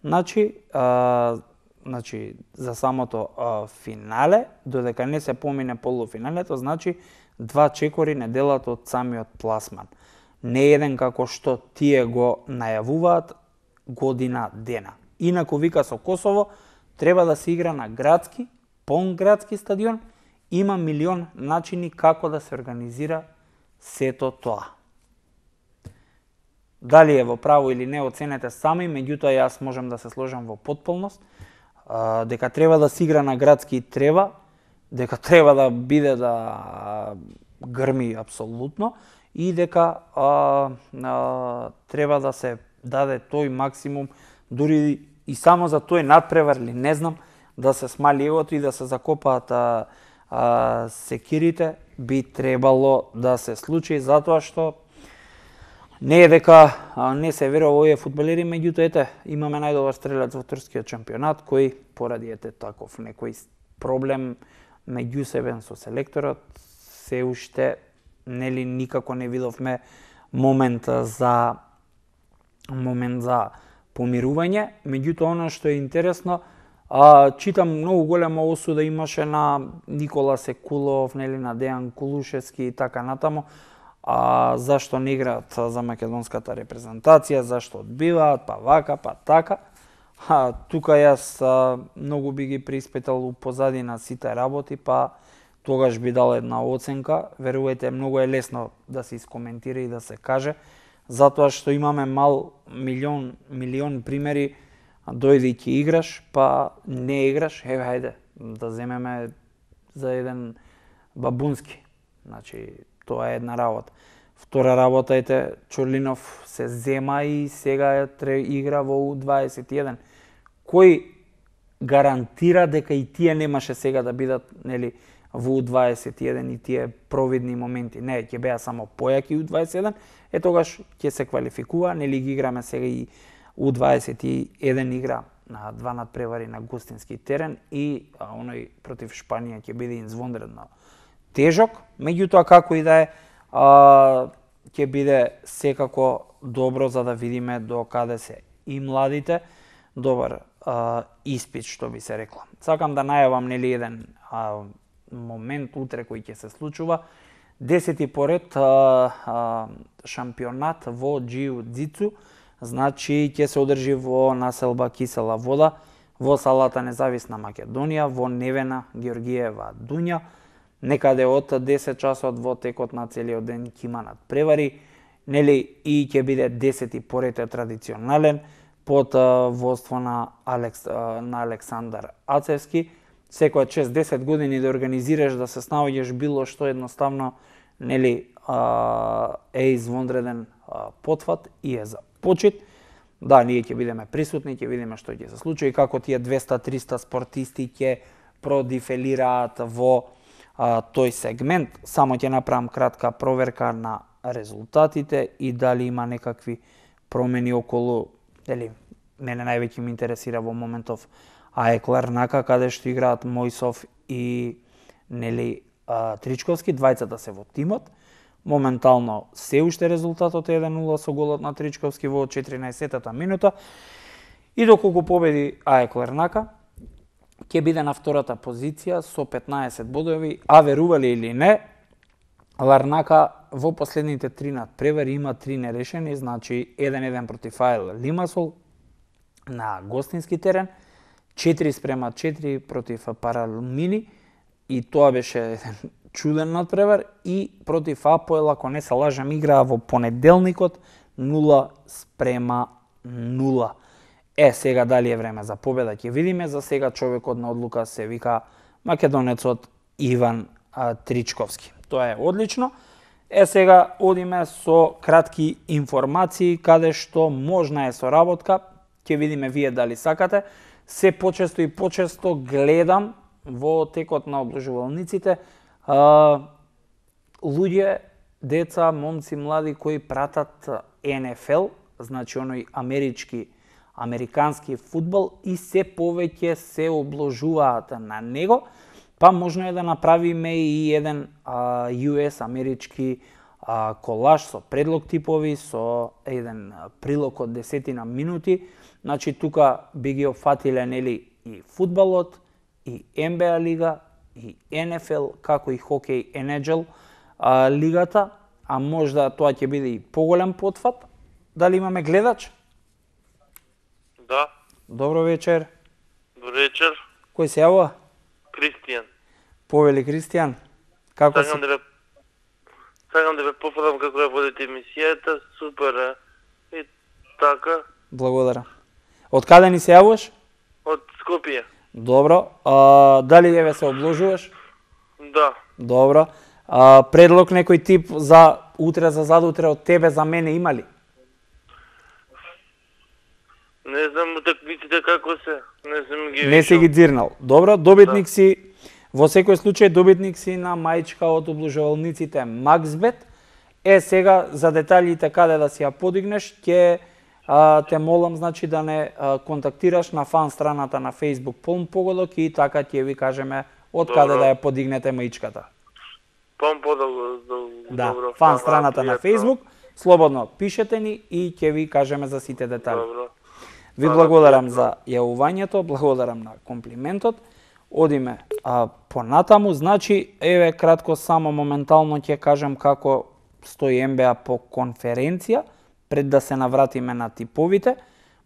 значи, а, значи за самото а, финале, додека не се помине полуфиналето, значи два чекори не делат од самиот пласман. Не еден како што тие го најавуваат година дена. Инаку, вика, со Косово треба да се игра на градски, полн градски стадион. Има милион начини како да се организира сето тоа. Дали е во право или не, оценете сами, меѓутоа јас можам да се сложам во потполност, а, дека треба да се игра на градски треба, дека треба да биде да грми апсолутно и дека а, а, треба да се даде тој максимум, дури и само за тој надпревар или не знам, да се смали егото и да се закопаат а, а, секирите, би требало да се случи, затоа што не е дека а, не се верува овие фудбалери, меѓутоа, ете, имаме најдобар стрелец во турскиот шампионат, кој поради ете таков некој проблем меѓусебен со селекторот, се уште нели никако не видовме момент за момент за помирување. Меѓутоа, она што е интересно, а, читам многу голема осуда имаше на Никола Секулов, нели, на Дејан Кулушевски и така натаму. А зашто не играат за македонската репрезентација, зашто одбиваат, па вака, па така. А, тука јас а, многу би ги приспитал у позадина сите работи, па тогаш би дал една оценка. Верувајте, многу е лесно да се искоментира и да се каже, затоа што имаме мал милион, милион примери, дојди ќе играш, па не играш, еве, хајде, да земеме за еден Бабунски. Значи, тоа е една работа. Втора работа, ете, Чорлинов се зема и сега тре игра во У дваесет и еден. Кој гарантира дека и тие немаше сега да бидат, нели, во У дваесет и еден и тие провидни моменти. Не, ќе беа само појаки У дваесет и еден, е тогаш ќе се квалификува, нели ги играме сега и У дваесет и еден игра на два надпревари на гостински терен и а, оној против Шпанија ќе биде извонредно тежок, меѓутоа како и да е, а, ќе биде секако добро за да видиме до каде се и младите, добар а, испит што би се рекло. Сакам да најавам нели еден а, момент утре кој ќе се случува, десети поред а, а, шампионат во џиу-џицу, значи ќе се одржи во населба Кисела вода, во салата Независна Македонија, во Невена Георгиева Дуња, некаде од десет часот во текот на целиот ден ќе има надпревари, нели и ќе биде десети поред е традиционален под а, водство на, Алекс, а, на Александар Ацевски. Секоја шест-десет години да организираш, да се снаоѓаш било што едноставно, нели а, е извонреден а, потфат и е за почит. Да, ние ќе бидеме присутни, ќе видиме што ќе се случи и како тие двеста-триста спортисти ќе продифелираат во а, тој сегмент. Само ќе направам кратка проверка на резултатите и дали има некакви промени околу, дали мене највеќе ме интересира во моментов АЕК Ларнака, каде што играат Мојсов и нели а, Тричковски, двајцата се во тимот. Моментално се уште резултатот е еден нула со голот на Тричковски во четиринаесеттата минута. И доколку победи АЕК Ларнака, ќе биде на втората позиција со петнаесет бодови, а верували или не, Ларнака во последните три надпревари има три нерешени, значи еден-еден против АЕЛ Лимасол на гостински терен, четири спрема четири против Паралумини, и тоа беше еден чуден надпревар, и против Апоел, ако не се лажам, играа во понеделникот нула спрема нула. Е, сега дали е време за победа ќе видиме, за сега човекот на одлука се вика македонецот Иван а, Тричковски. Тоа е одлично. Е, сега одиме со кратки информации, каде што можна е соработка, ќе видиме вие дали сакате. Се почесто и почесто гледам во текот на обложувалниците а, луѓе, деца, момци, млади кои пратат Ен Еф Ел, значи оној амерички, американски фудбал, и се повеќе се обложуваат на него, па можно е да направиме и еден а, Ю Ес амерички а, колаж со предлог типови, со еден прилог од десетина минути. Значи тука би ги опфатиле нели и фудбалот, и Ен Би А лига, и Ен Еф Ел, како и хокеј Ен Ейч Ел а, лигата, а можда тоа ќе биде и поголем потфат. Дали имаме гледач? Да. Добро вечер. Добро вечер. Кој се јавува? Кристијан. Повели Кристијан. Како Сакам си? да ве Сакам да ве пофалам како ја водите емисијата, супер е. И така, Благодарам. Од каде ни се јавуваш? од Скопје. Добро. А, дали еве се обложуваш? Да. Добро. А, предлог некој тип за утре, за задутре од тебе, за мене има ли? Не знам утакмиците како се. Не сум ги Не си вишал. ги дзирнал. Добро, добитник си, во секој случај добитник си на мајчка од обложувалниците Максбет. Е, сега за деталите каде да си ја подигнеш, ќе а, те молам, значи, да не а, контактираш на фан страната на Facebook Полн Погодок и така ќе ви кажеме од каде Добро. да ја подигнете маичката. Пам подолго, Да, добро. фан фала, страната на пријатно. Facebook, слободно пишете ни и ќе ви кажеме за сите детали. Добро. Ви Фала, благодарам пријатно. за јавувањето, благодарам на комплиментот. Одиме а, понатаму, значи, еве кратко само моментално ќе кажам како стои Ен Би А по конференција, пред да се навратиме на типовите.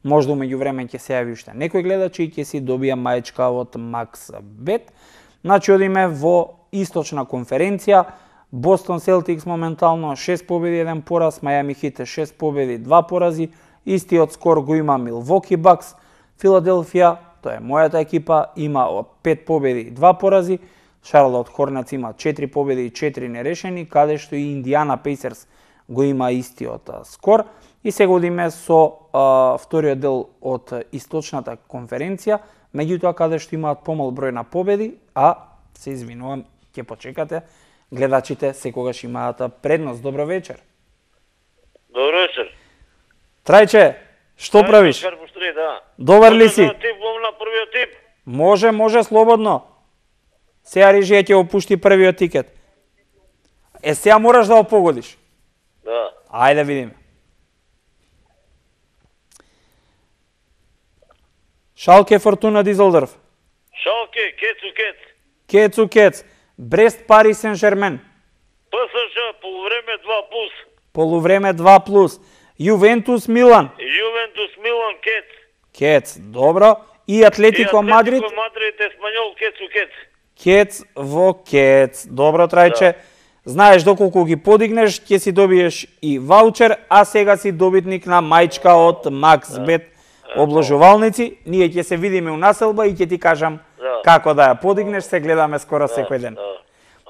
Можда умеѓу време ќе се јави уште некој гледач и ќе си добија маечка од Максбет. Значи, одиме во источна конференција. Бостон Селтикс моментално шест победи, еден пораз, Мајами Хит шест победи, два порази. Истиот скор го има Милвоки Бакс. Филаделфија, тоа е мојата екипа, има пет победи и два порази. Шарлот Хорнец има четири победи и четири нерешени, каде што и Индиана Пейсерс го има истиот а, скор. И сега одиме со а, вториот дел од источната конференција, меѓутоа каде што имаат помал број на победи, а се извинувам, ќе почекате. Гледачите секогаш имаат предност. Добро вечер. Добро вечер. Трајче, што правиш? Карпустри, да. Добар ли си? Може да типувам на првиот тип? Може, може, слободно. Сега режија ќе опушти првиот тикет. Е, сега мораш да го погодиш. Да. Ајде видиме. Шалке, Фортуна, Дизелдорф. Шалке, Кецу, Кец. Кецу, Кец. Брест, Пари, Сен-Жермен. ПСЖ, полувреме два плюс. Полувреме два плюс. Јувентус, Милан. Јувентус, Милан, Кец. Кец, добро. И Атлетико Мадрид. Атлетико Мадрид, Еспанјол, Кецу, Кец. Кец во Кец. Добро, Трајче. Знаеш доколку ги подигнеш, ќе си добиеш и ваучер, а сега си добитник на мајчка од Максбет обложувалници. Ние ќе се видиме у населба и ќе ти кажам Да. како да ја подигнеш, се гледаме скоро секој ден.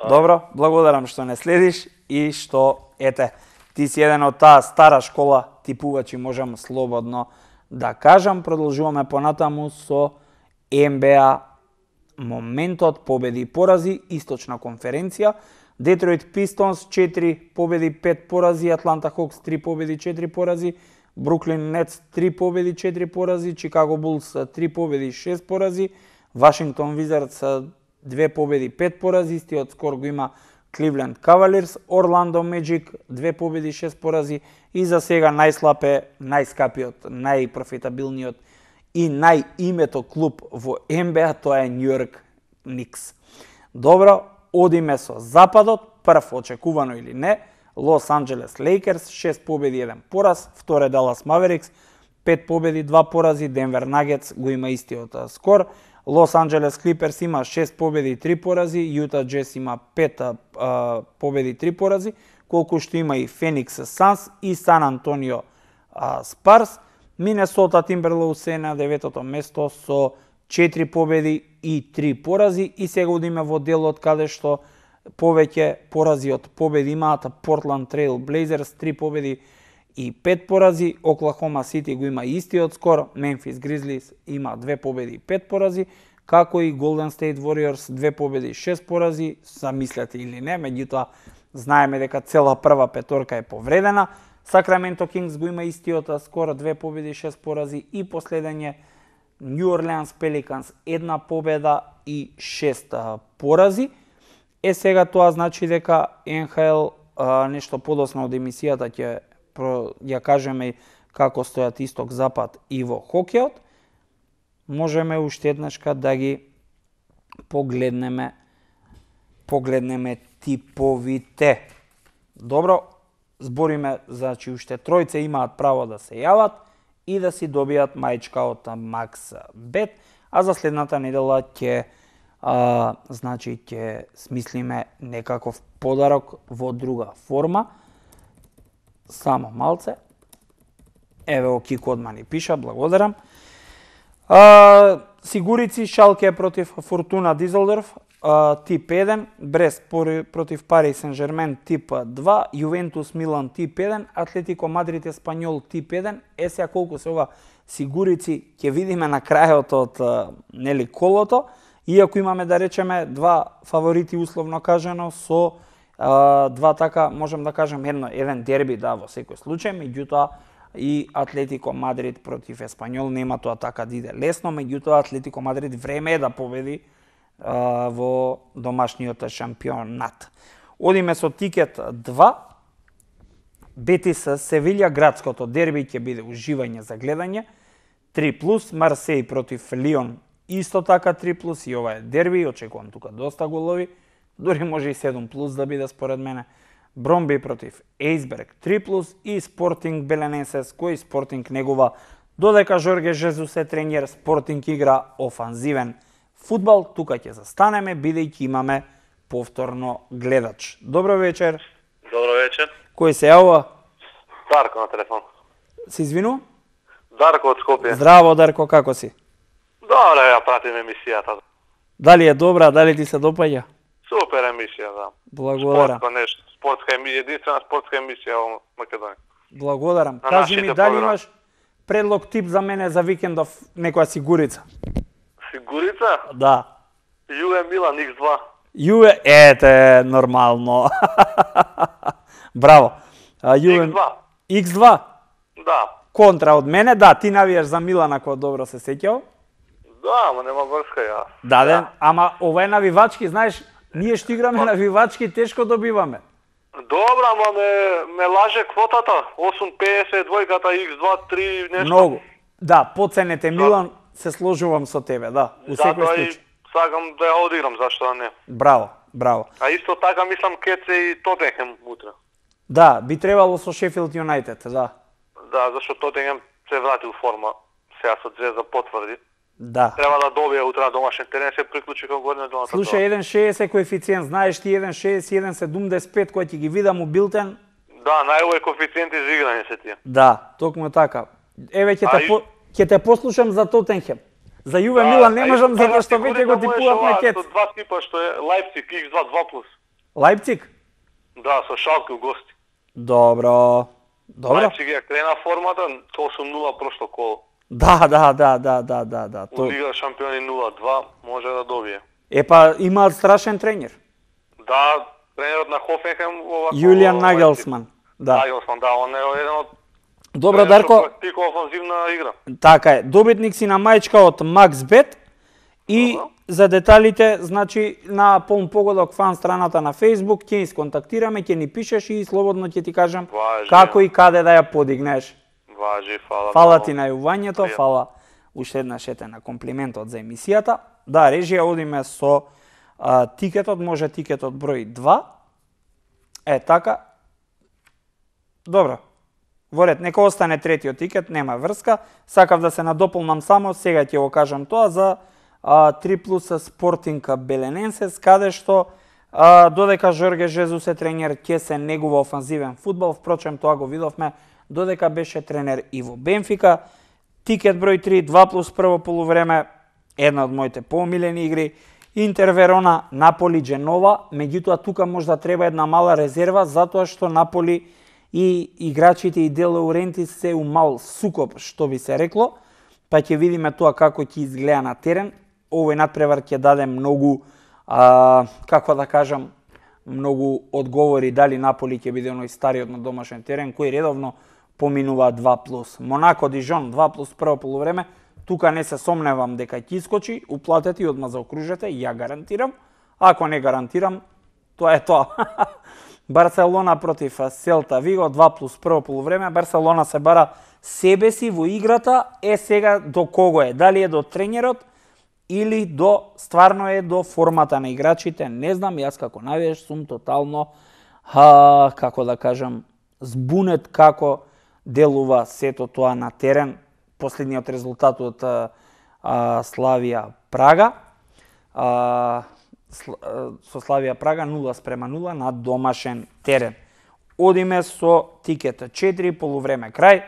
Добро, благодарам што не следиш и што, ете, ти си еден од таа стара школа типувачи, можам слободно да кажам. Продолжуваме понатаму со Н Б А моментот, победи и порази, источна конференција. Детройт Пистонс четири победи, пет порази, Атланта Хокс три победи, четири порази, Бруклин Нетс три победи, четири порази, Чикаго Булс три победи, шест порази, Вашингтон Визардс две победи, пет порази, истиот скор го има Кливленд Кавалирс, Орландо Меджик две победи, шест порази и за сега најслаб е најскапиот, најпрофитабилниот и најимето клуб во Н Б А, тоа е Њујорк Никс. Добро, одиме со западот, прв очекувано или не, Лос Анџелес Лейкерс, шест победи, еден пораз, втор е Далас Маверикс, пет победи, два порази, Денвер Нагетс го има истиот скор, Лос Анџелес Клиперс има шест победи, три порази, Јута Джес има пет а, победи, три порази, колку што има и Феникс Санс и Сан Антонио а, Спарс. Минесота Тимберлоуз е на деветото место со четири победи и три порази и сега одиме во делот каде што повеќе порази од победи имаат Портланд Трейл Блейзерс три победи и пет порази, Оклахома Сити го има истиот скор, Мемфис Гризлис има две победи и пет порази, како и Голден Стейт Вориорс две победи и шест порази, замислете или не, меѓутоа знаеме дека цела прва петорка е повредена. Сакраменто Кингс го има истиот скор, две победи и шест порази и последен е Нью Орлеанс Пеликанс една победа и шест порази. Е сега тоа значи дека Н Х Л а, нешто подоцна од емисијата ќе ја кажеме како стојат исток запад и во хокејот. Можеме уште еднашка да ги погледнеме погледнеме типовите. Добро, збориме, значи уште тројце имаат право да се јават и да си добијат мајчка од Максбет, а за следната недела ќе а, значи ќе смислиме некаков подарок во друга форма. Само малце. Еве о Кико одма ни пиша, благодарам. А, Сигурици Шалке против Фортуна Дизелдорф, а, тип еден, Брест против Пари Сен-Жермен тип два, Јувентус Милан тип еден, Атлетико Мадрид Еспанјол тип еден. Е сега колку се ова Сигурици ќе видиме на крајот од нели колото, иако имаме да речеме два фаворити условно кажано со а, два така можем да кажем едно еден дерби да во секој случај, меѓутоа и Атлетико Мадрид против Еспанјол нема тоа така да иде лесно, меѓутоа Атлетико Мадрид време е да победи а, во домашниот шампионат. Одиме со тикет два. Бетис Севилја, градското дерби ќе биде уживање за гледање. три плюс, Марсеј против Лион исто така три плюс и ова е дерби, очекувам тука доста голови, дури може и седум плюс да биде според мене. Бромби против Ејсберг три плюс и Спортинг Беленесес, кој Спортинг негова додека Жорге Жезус е тренер, Спортинг игра офанзивен фудбал, тука ќе застанеме бидејќи имаме повторно гледач. Добро вечер. Добро вечер. Кој се јавува? Дарко на телефон. Се извинувам? Дарко од Скопје. Здраво, Дарко, како си? Добре, ја пратим емисијата. Дали е добра, дали ти се допаѓа? Супер емисија, да. Благодарам. Спортско нешто, спортска емисија, единствена спортска емисија во Македонија. Благодарам. На Кажи ми нашите дали програми. имаш предлог тип за мене за викендов некоја Сигурица? Сигурица? Да. Јуе Милан икс два. Јуве, ете, нормално. Браво. А, Јуве... икс два. икс два? Да. Контра од мене, да, ти навиеш за Милан ако добро се сеќав. Да, ама нема врска ја. Да, да, ама ова е навивачки, знаеш, ние што играме навивачки тешко добиваме. Добра, ама ме, ме лаже квотата. осум педесет, двојката икс два, три, нешто. Многу. Да, поценете Милан, се сложувам со тебе, да, у секој Затоа и случај. сакам да ја одиграм, зашто да не. Браво, браво. А исто така мислам ке се и Тотенхем утре. Да, би требало со Шефилд Юнајтед, да. Да, зашто Тотенхем се врати у форма. Сега со Звезда потврди. Да. Треба да добие утре на домашен терен, се приклучи кон горниот. Слушај, еден шеесет коефициент, знаеш ти еден шеесет, еден седумдесет и пет кој ќе ги видам у билтен? Да, најубави коефициенти за играње се тие. Да, токму така. Еве ќе А те и- по... ќе те послушам за Тотенхем. За Јуве Да, Милан не а можам исто така затоа што ти веќе го коригам типуваат оваа на кец. Со два типа што е Лајпциг икс два два плюс. Лајпциг? Да, со Шалке у гости. Добро. Добро. Лајпциг ја крена формата со осум нула прошло коло. Да, да, да, да, да, да, да. У То... Лига шампиони нула два може да добие. Епа имаат страшен тренер. Да, тренерот на Хофенхем ова Јулијан Нагелсман. Да. Нагелсман, да, он е еден од Добро, тренер што Дарко, практикува офанзивна игра. така е. Добитник си на мајчка од Максбет и Добро. за деталите, значи на полн погодок фан страната на Facebook ќе ни сконтактираме, ќе ни пишеш и слободно ќе ти кажам Важи. како и каде да ја подигнеш. Важи, фала. Фала многу. ти на јувањето, Пријатно. фала уште еднаш ете на комплиментот за емисијата. Да, режија одиме со а, тикетот, може тикетот број два. Е, така. Добро. Во ред, нека остане третиот тикет, нема врска. Сакав да се надополнам само, сега ќе го кажам тоа за а, три плюс Спортинг Белененсес, каде што а, додека Жорге Жезус е тренер, ќе се негува офанзивен фудбал, впрочем тоа го видовме додека беше тренер и во Бенфика. Тикет број три, два плюс прво полувреме, една од моите поомилени игри. Интер Верона, Наполи Дженова, меѓутоа тука можда треба една мала резерва, затоа што Наполи и играчите и Де Лаурентис се у мал сукоп, што би се рекло, па ќе видиме тоа како ќе изгледа на терен. Овој надпревар ќе даде многу, а, како да кажам, многу одговори дали Наполи ќе биде оној стариот на домашен терен, кој редовно поминува два плюс. Монако Дижон два плюс прво полувреме, тука не се сомневам дека ќе искочи, уплатете и одма заокружете, ја гарантирам. Ако не гарантирам, тоа е тоа. Барселона против Селта Виго, два плюс прво полувреме. Барселона се бара себе си во играта, е сега до кого е? Дали е до тренерот или до стварно е до формата на играчите? Не знам, јас како навиеш сум тотално, а, како да кажам, збунет како делува сето тоа на терен. Последниот резултат од а, Славија Прага. А, со Славија Прага нула спрема нула на домашен терен. Одиме со тикет четири полувреме крај.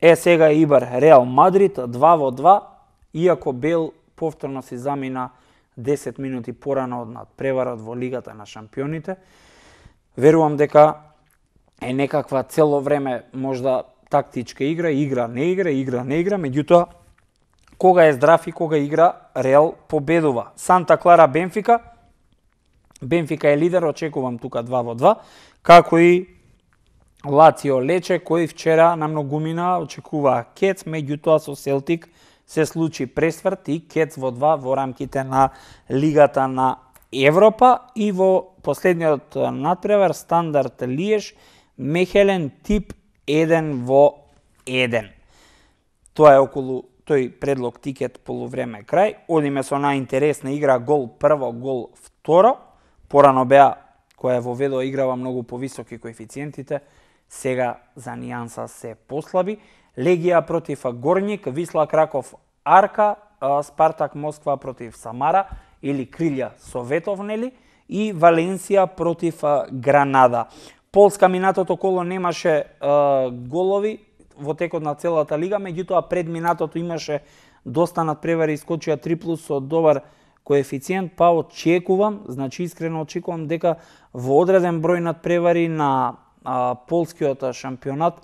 Е сега Ибар Реал Мадрид два во два, иако Бел повторно си замина десет минути порано од надпреварот во Лигата на шампионите. Верувам дека е некаква цело време можда тактичка игра, игра не игра, игра не игра, меѓутоа кога е здрав и кога игра, Реал победува. Санта Клара Бенфика, Бенфика е лидер, очекувам тука два во два, како и Лацио Лече, кој вчера на многумина очекуваа кец, меѓутоа со Селтик се случи пресврт и кец во два во рамките на Лигата на Европа и во последниот надпревар Стандард Лиеш, Мехелен тип еден во еден. Тоа е околу тој предлог тикет полувреме крај. Одиме со најинтересна игра гол прво, гол второ. Порано беа која во Ведо играва многу повисоки коефициентите, сега за нијанса се послаби. Легија против Горник, Висла Краков Арка, Спартак Москва против Самара или Крилја Советов, нели? И Валенсија против Гранада. Полска минатото коло немаше е, голови во текот на целата лига, меѓутоа пред минатото имаше доста надпревари, искочија три плюс со добар коефициент, па очекувам, значи искрено очекувам дека во одреден број надпревари на а, полскиот шампионат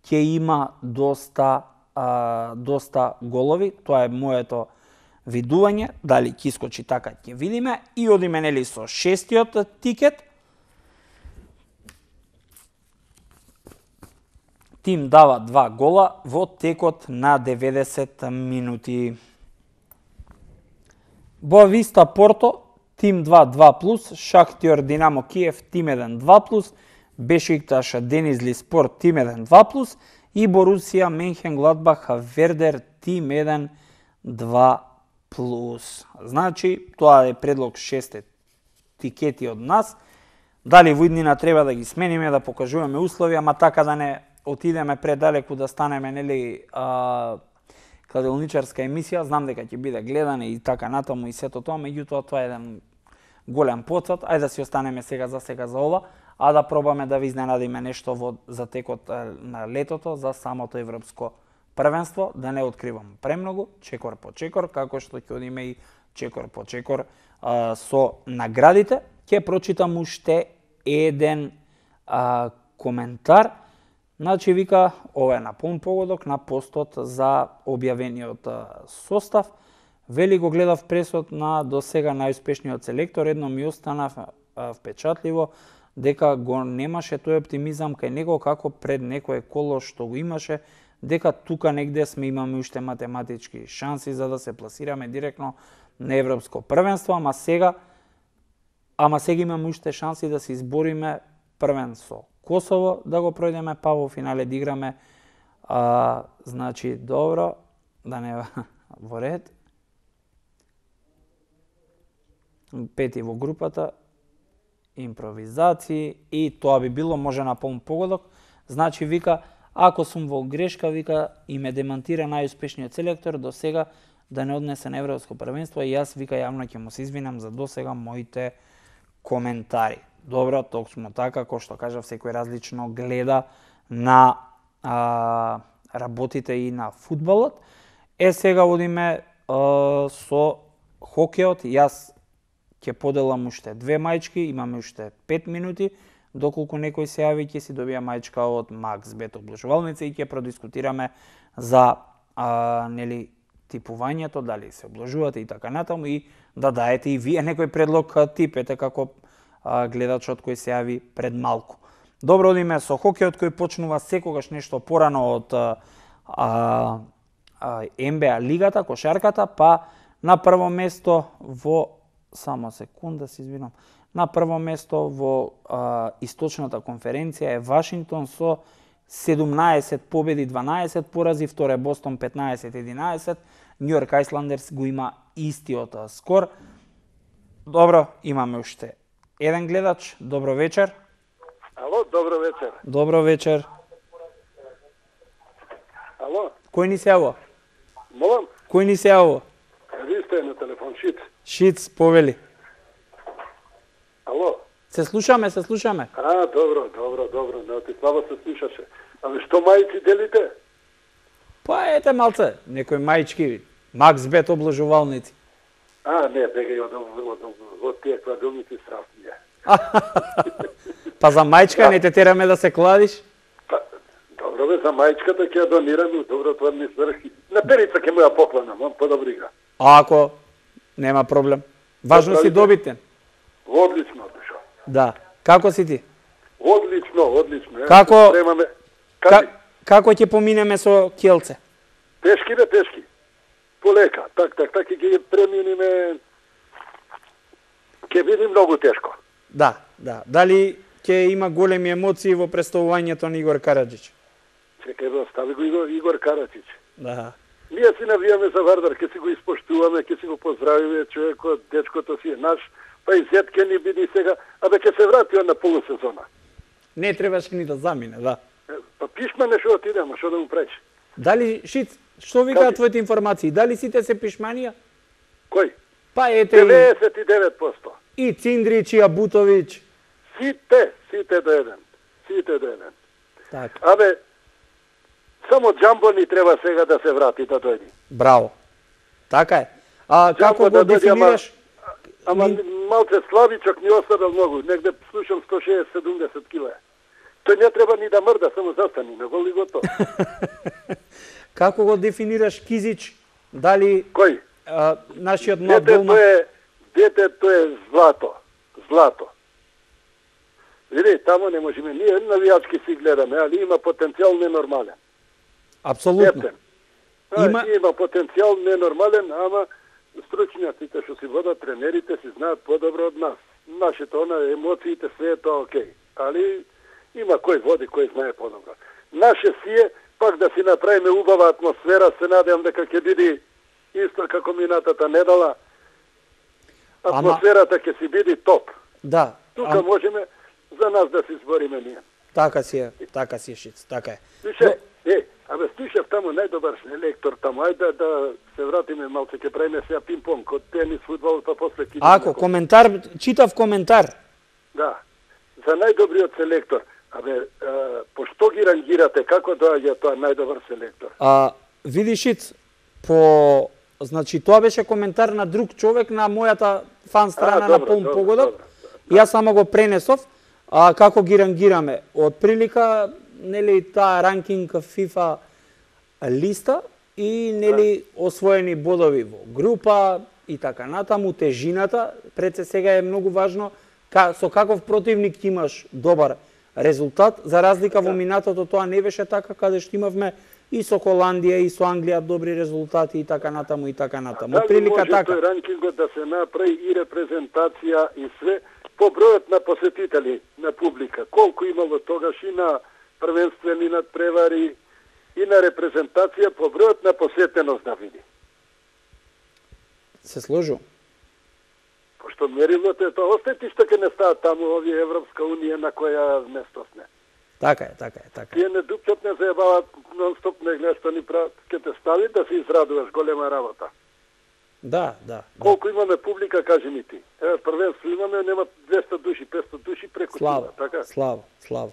ќе има доста а, доста голови. Тоа е моето видување, дали ќе искочи така ќе видиме и одиме нели со шестиот тикет. Тим дава два гола во текот на деветдесет минути. Боависта Порто, Тим два два плюс, Шахтјор Динамо Киев, Тим еден два плюс, Бешикташ Денизли Спорт, Тим еден два плюс и Борусија Менхенгладбах Вердер, Тим еден два плюс. Значи, тоа е предлог шесте тикети од нас. Дали во иднина треба да ги смениме, да покажуваме услови, ама така да не отидеме предалеку, да станеме нели а, кладилничарска емисија, знам дека ќе биде гледане и така натаму и сето тоа, меѓутоа тоа е еден голем потсад. Ајде да си останеме сега за сега за ова, а да пробаме да ви изненадиме нешто во за текот на летото за самото европско првенство, да не откривам премногу, чекор по чекор, како што ќе одиме и чекор по чекор а, со наградите. Ќе прочитам уште еден а, коментар. Значи, вика, ова е на полн погодок на постот за објавениот состав. Вели, го гледав пресот на до сега најуспешниот селектор, едно ми остана впечатливо дека го немаше тој оптимизам кај него како пред некое коло што го имаше, дека тука негде сме имаме уште математички шанси за да се пласираме директно на европско првенство, ама сега ама сега имаме уште шанси да се избориме првен со Косово, да го пројдеме, па во финале да играме. А, значи, добро, да не во ред. Пети во групата, импровизации и тоа би било може на полн погодок. Значи, вика, ако сум во грешка, вика, и ме демантира најуспешниот селектор до сега да не однесе на европско првенство и јас, вика, јавно ќе му се извинам за до сега моите коментари. Добро, токму така, кој што кажав, секој различно гледа на а, работите и на фудбалот. Е, сега одиме а, со хокеот. Јас ќе поделам уште две мајчки, имаме уште пет минути, доколку некој се јави, ќе си добија мајчка од Макс Бет облажувалница и ќе продискутираме за а, нели типувањето, дали се облажувате и така натаму, и да даете и вие некој предлог тип, ете како гледачот кој се јави пред малку. Добро, одиме со хокеот кој почнува секогаш нешто порано од а, а, Ен Бе А лигата, кошарката, па на прво место во само секунда се извинам. На прво место во а, источната конференција е Вашингтон со седумнаесет победи, дванаесет порази, втор е Бостон петнаесет единаесет, Нью Йорк Айсландерс го има истиот скор. Добро, имаме уште еден гледач. Добро вечер. Ало, добро вечер. Добро вечер. Ало. Кој ни се јавува? Молам? Кој ни се јавува? Ви сте на телефон, Шиц. Шиц, повели. Ало. Се слушаме, се слушаме. А, добро, добро, добро. Не, ти слабо се слушаше. Ами што мајци делите? Па ете малце, некои мајчки, Макс Бет облажувалници. А, не, бегај од, од, од, од тие кладилници страшни. Па за мајчка не те тераме да се кладиш? Па, добро бе, за мајчката ќе ја донирам, добро тоа ми сврхи. На перица ќе му ја покланам, он подобри игра. А ако нема проблем. Важно си добитен. Одлично, душо. Да. Како си ти? Одлично, одлично. Како Премаме... Ка... Како ќе поминеме со Келце? Тешки бе, тешки. Полека, так, так, так, и ќе преминиме, ќе биде многу тешко. Да, да. Дали ќе има големи емоции во представувањето на Игор Караджич? Чекај да остави го Игор, Игор Караджич. Да. Ние си навијаме за Вардар, ќе си го испоштуваме, ќе си го поздравиме, човекот, дечкото си е наш, па и зет ќе ни биде сега, абе ќе се врати он на полусезона. Не требаше ни да замине, да. Па пишмане што отидемо, што да му пречи. Дали, Шиц, што викаат твоите информации? Дали сите се пишманија? Кој? Па ете деветдесет и девет проценти. И Циндрич, и Абутовиќ. Сите, сите до еден. Сите до еден. Така. Абе, само Джамбо ни треба сега да се врати, да дојде. Браво. Така е. А како го да дефинираш? Ама, ама малце слабичок ни оставил многу, негде слушам сто шеесет до седумдесет кила. Тој не треба ни да мрда, само застани, на гол и готово. Како го дефинираш Кизич? Дали Кој? а, нашиот млад Детето голман... е, детето е злато. Злато. Види, тамо не можеме. Ние навијачки си гледаме, али има потенцијал ненормален. Апсолутно. Епен. Има- Има... има потенцијал ненормален, ама стручњаците што си водат, тренерите си знаат подобро од нас. Нашите она емоциите све е тоа окей. Али има кој води, кој знае подобро. Наше си е пак да си направиме убава атмосфера, се надевам дека ќе биде исто како минатата недела. Атмосферата ќе си биде топ. Да. Тука а- можеме за нас да се избориме ние. Така си е, така си е, Шиц, така е. Слушај, е, абе слушав таму најдобар лектор таму, ајде да, да се вратиме малце, ќе правиме сега пинг-понг, од тенис, фудбал, па после ќе... Ако, коментар, читав коментар. Да, за најдобриот селектор. Абе, а, по што ги рангирате, како доаѓа тоа најдобар селектор? А, види, Шиц, по... Значи, тоа беше коментар на друг човек на мојата фан страна А, на добро, Полн добро, Погодок. добро. Јас само го пренесов, а како ги рангираме. Од прилика, нели, таа ранкинг FIFA листа и, нели, освоени бодови во група и така натаму, тежината, пред се сега е многу важно ка, со каков противник ти имаш добар резултат, за разлика во минатото тоа не беше така, каде што имавме и со Холандија и со Англија добри резултати и така натаму и така натаму. Дали Прилика може така. тој ранкингот да се направи и репрезентација и све по бројот на посетители на публика? Колку имало тогаш и на првенствени надпревари и на репрезентација по бројот на посетеност да види? Се сложу. Пошто мерилото е тоа, остајте што ќе не стават таму овие Европска унија на која место сме. Така е, така е, така е. Тие не дупчат, не заебават, нон-стоп не гледаш што ни прават. Ке те стави да се израдуваш, голема работа. Да, да. да. Колку имаме публика, кажи ми ти. Еве, првенство имаме, нема двеста души, петста души преку Слава, тука, така? слава, слава.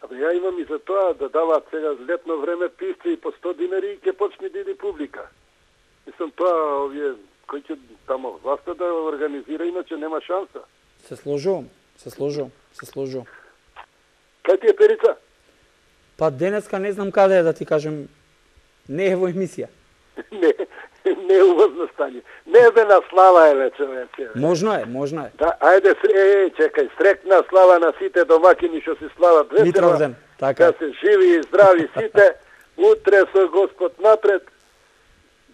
Абе, ја имам и за тоа да даваат сега летно време писци и по сто динари и ќе почне да иде публика. Мислам, тоа овие кој ќе тамо власта да организира, иначе нема шанса. Се сложувам, се сложувам, се сложувам. Кај ти е Перица? Па денеска не знам каде е да ти кажем, не е во емисија. Не, не е увозно стање. Не е бе на слава е ве, човече. Можно е, можно е. Да, ајде, е, чекај, срекна слава на сите домакини што си слават вечерва. Митровден, така е. Да се живи и здрави сите, утре со Господ напред,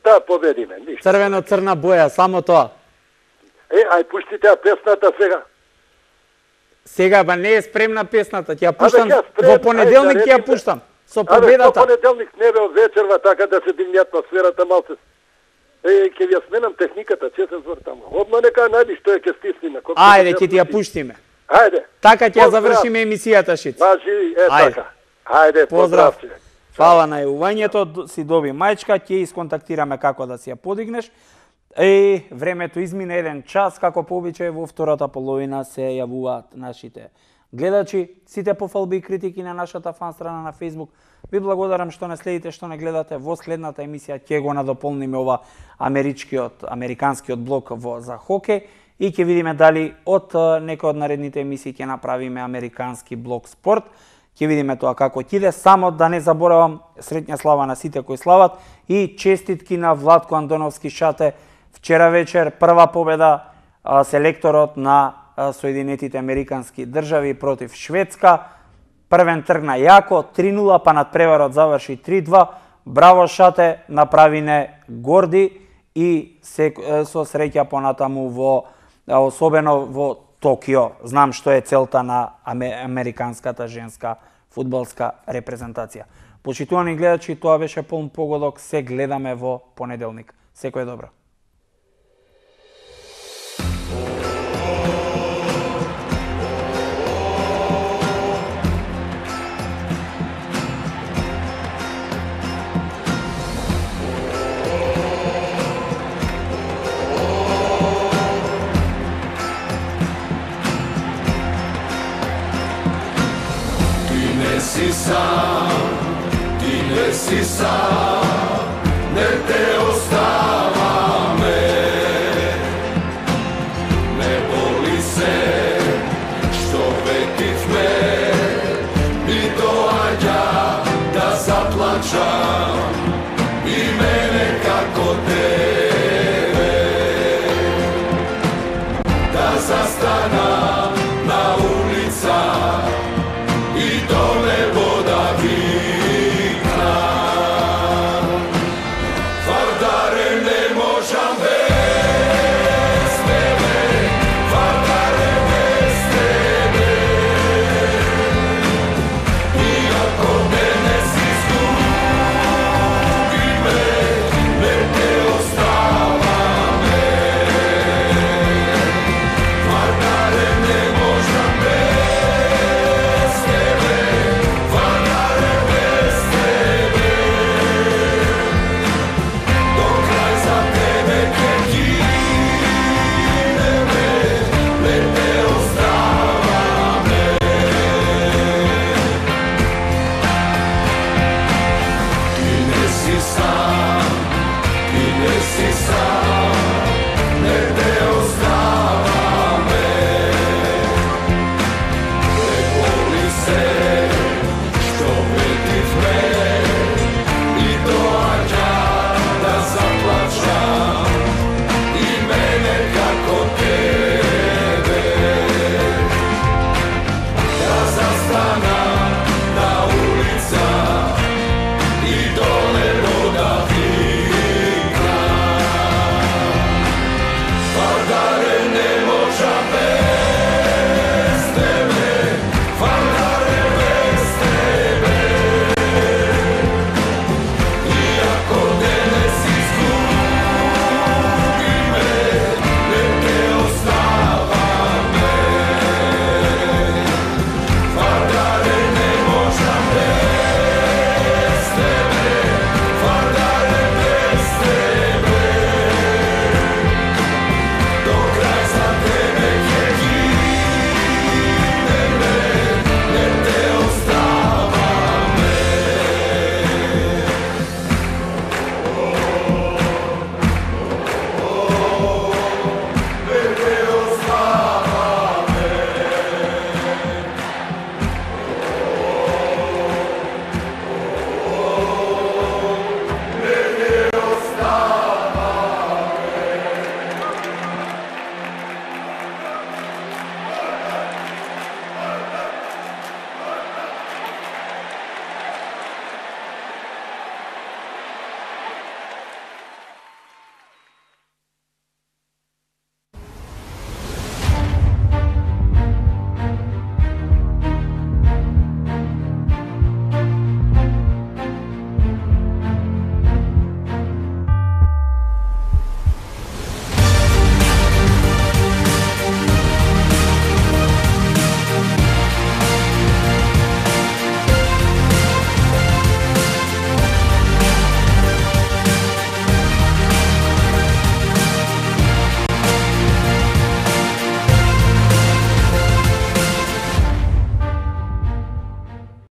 да победиме, ништо. Црвено-црна боја, само тоа. Е, ај пушти таа песната сега. Сега, ба не е спремна песната, ќе ја пуштам, ќе ја спрем, во понеделник ајде, ќе ја речите. пуштам. Со Абе, со победата. понеделник не бе од вечерва, така да се дигне атмосферата малце. Е, ќе ви ја сменам техниката, че се звор таму. Одма нека најди што е ќе стисниме. Ајде, ќе ти ја пуштиме. Ајде. Така ќе ја Поздрав. завршиме емисијата, Шиц. Ба, живи, е Ајде. така. Ајде, Поздрав. поздрав. човек. Фала на јавувањето, си доби мајчка, ќе исконтактираме како да си ја подигнеш. Е, времето измина еден час, како по обичај во втората половина се јавуваат нашите гледачи. Сите пофалби и критики на нашата фан страна на Facebook. Ви благодарам што не следите, што не гледате. Во следната емисија ќе го надополниме ова америчкиот, американскиот блок во за хокеј и ќе видиме дали од некој од наредните емисии ќе направиме американски блок спорт. Ќе видиме тоа како ќе иде. Само да не заборавам, среќна слава на сите кои слават и честитки на Владко Андоновски Шате. Вчера вечер прва победа а, селекторот на а, Соединетите Американски држави против Шведска. Првен тргна јако, три нула, па надпреварот заврши три два. Браво Шате, направине горди и се, со среќа понатаму во, особено во Токио. Знам што е целта на американската женска фудбалска репрезентација. Почитувани гледачи, тоа беше Полн Погодок, се гледаме во понеделник. Секој добро.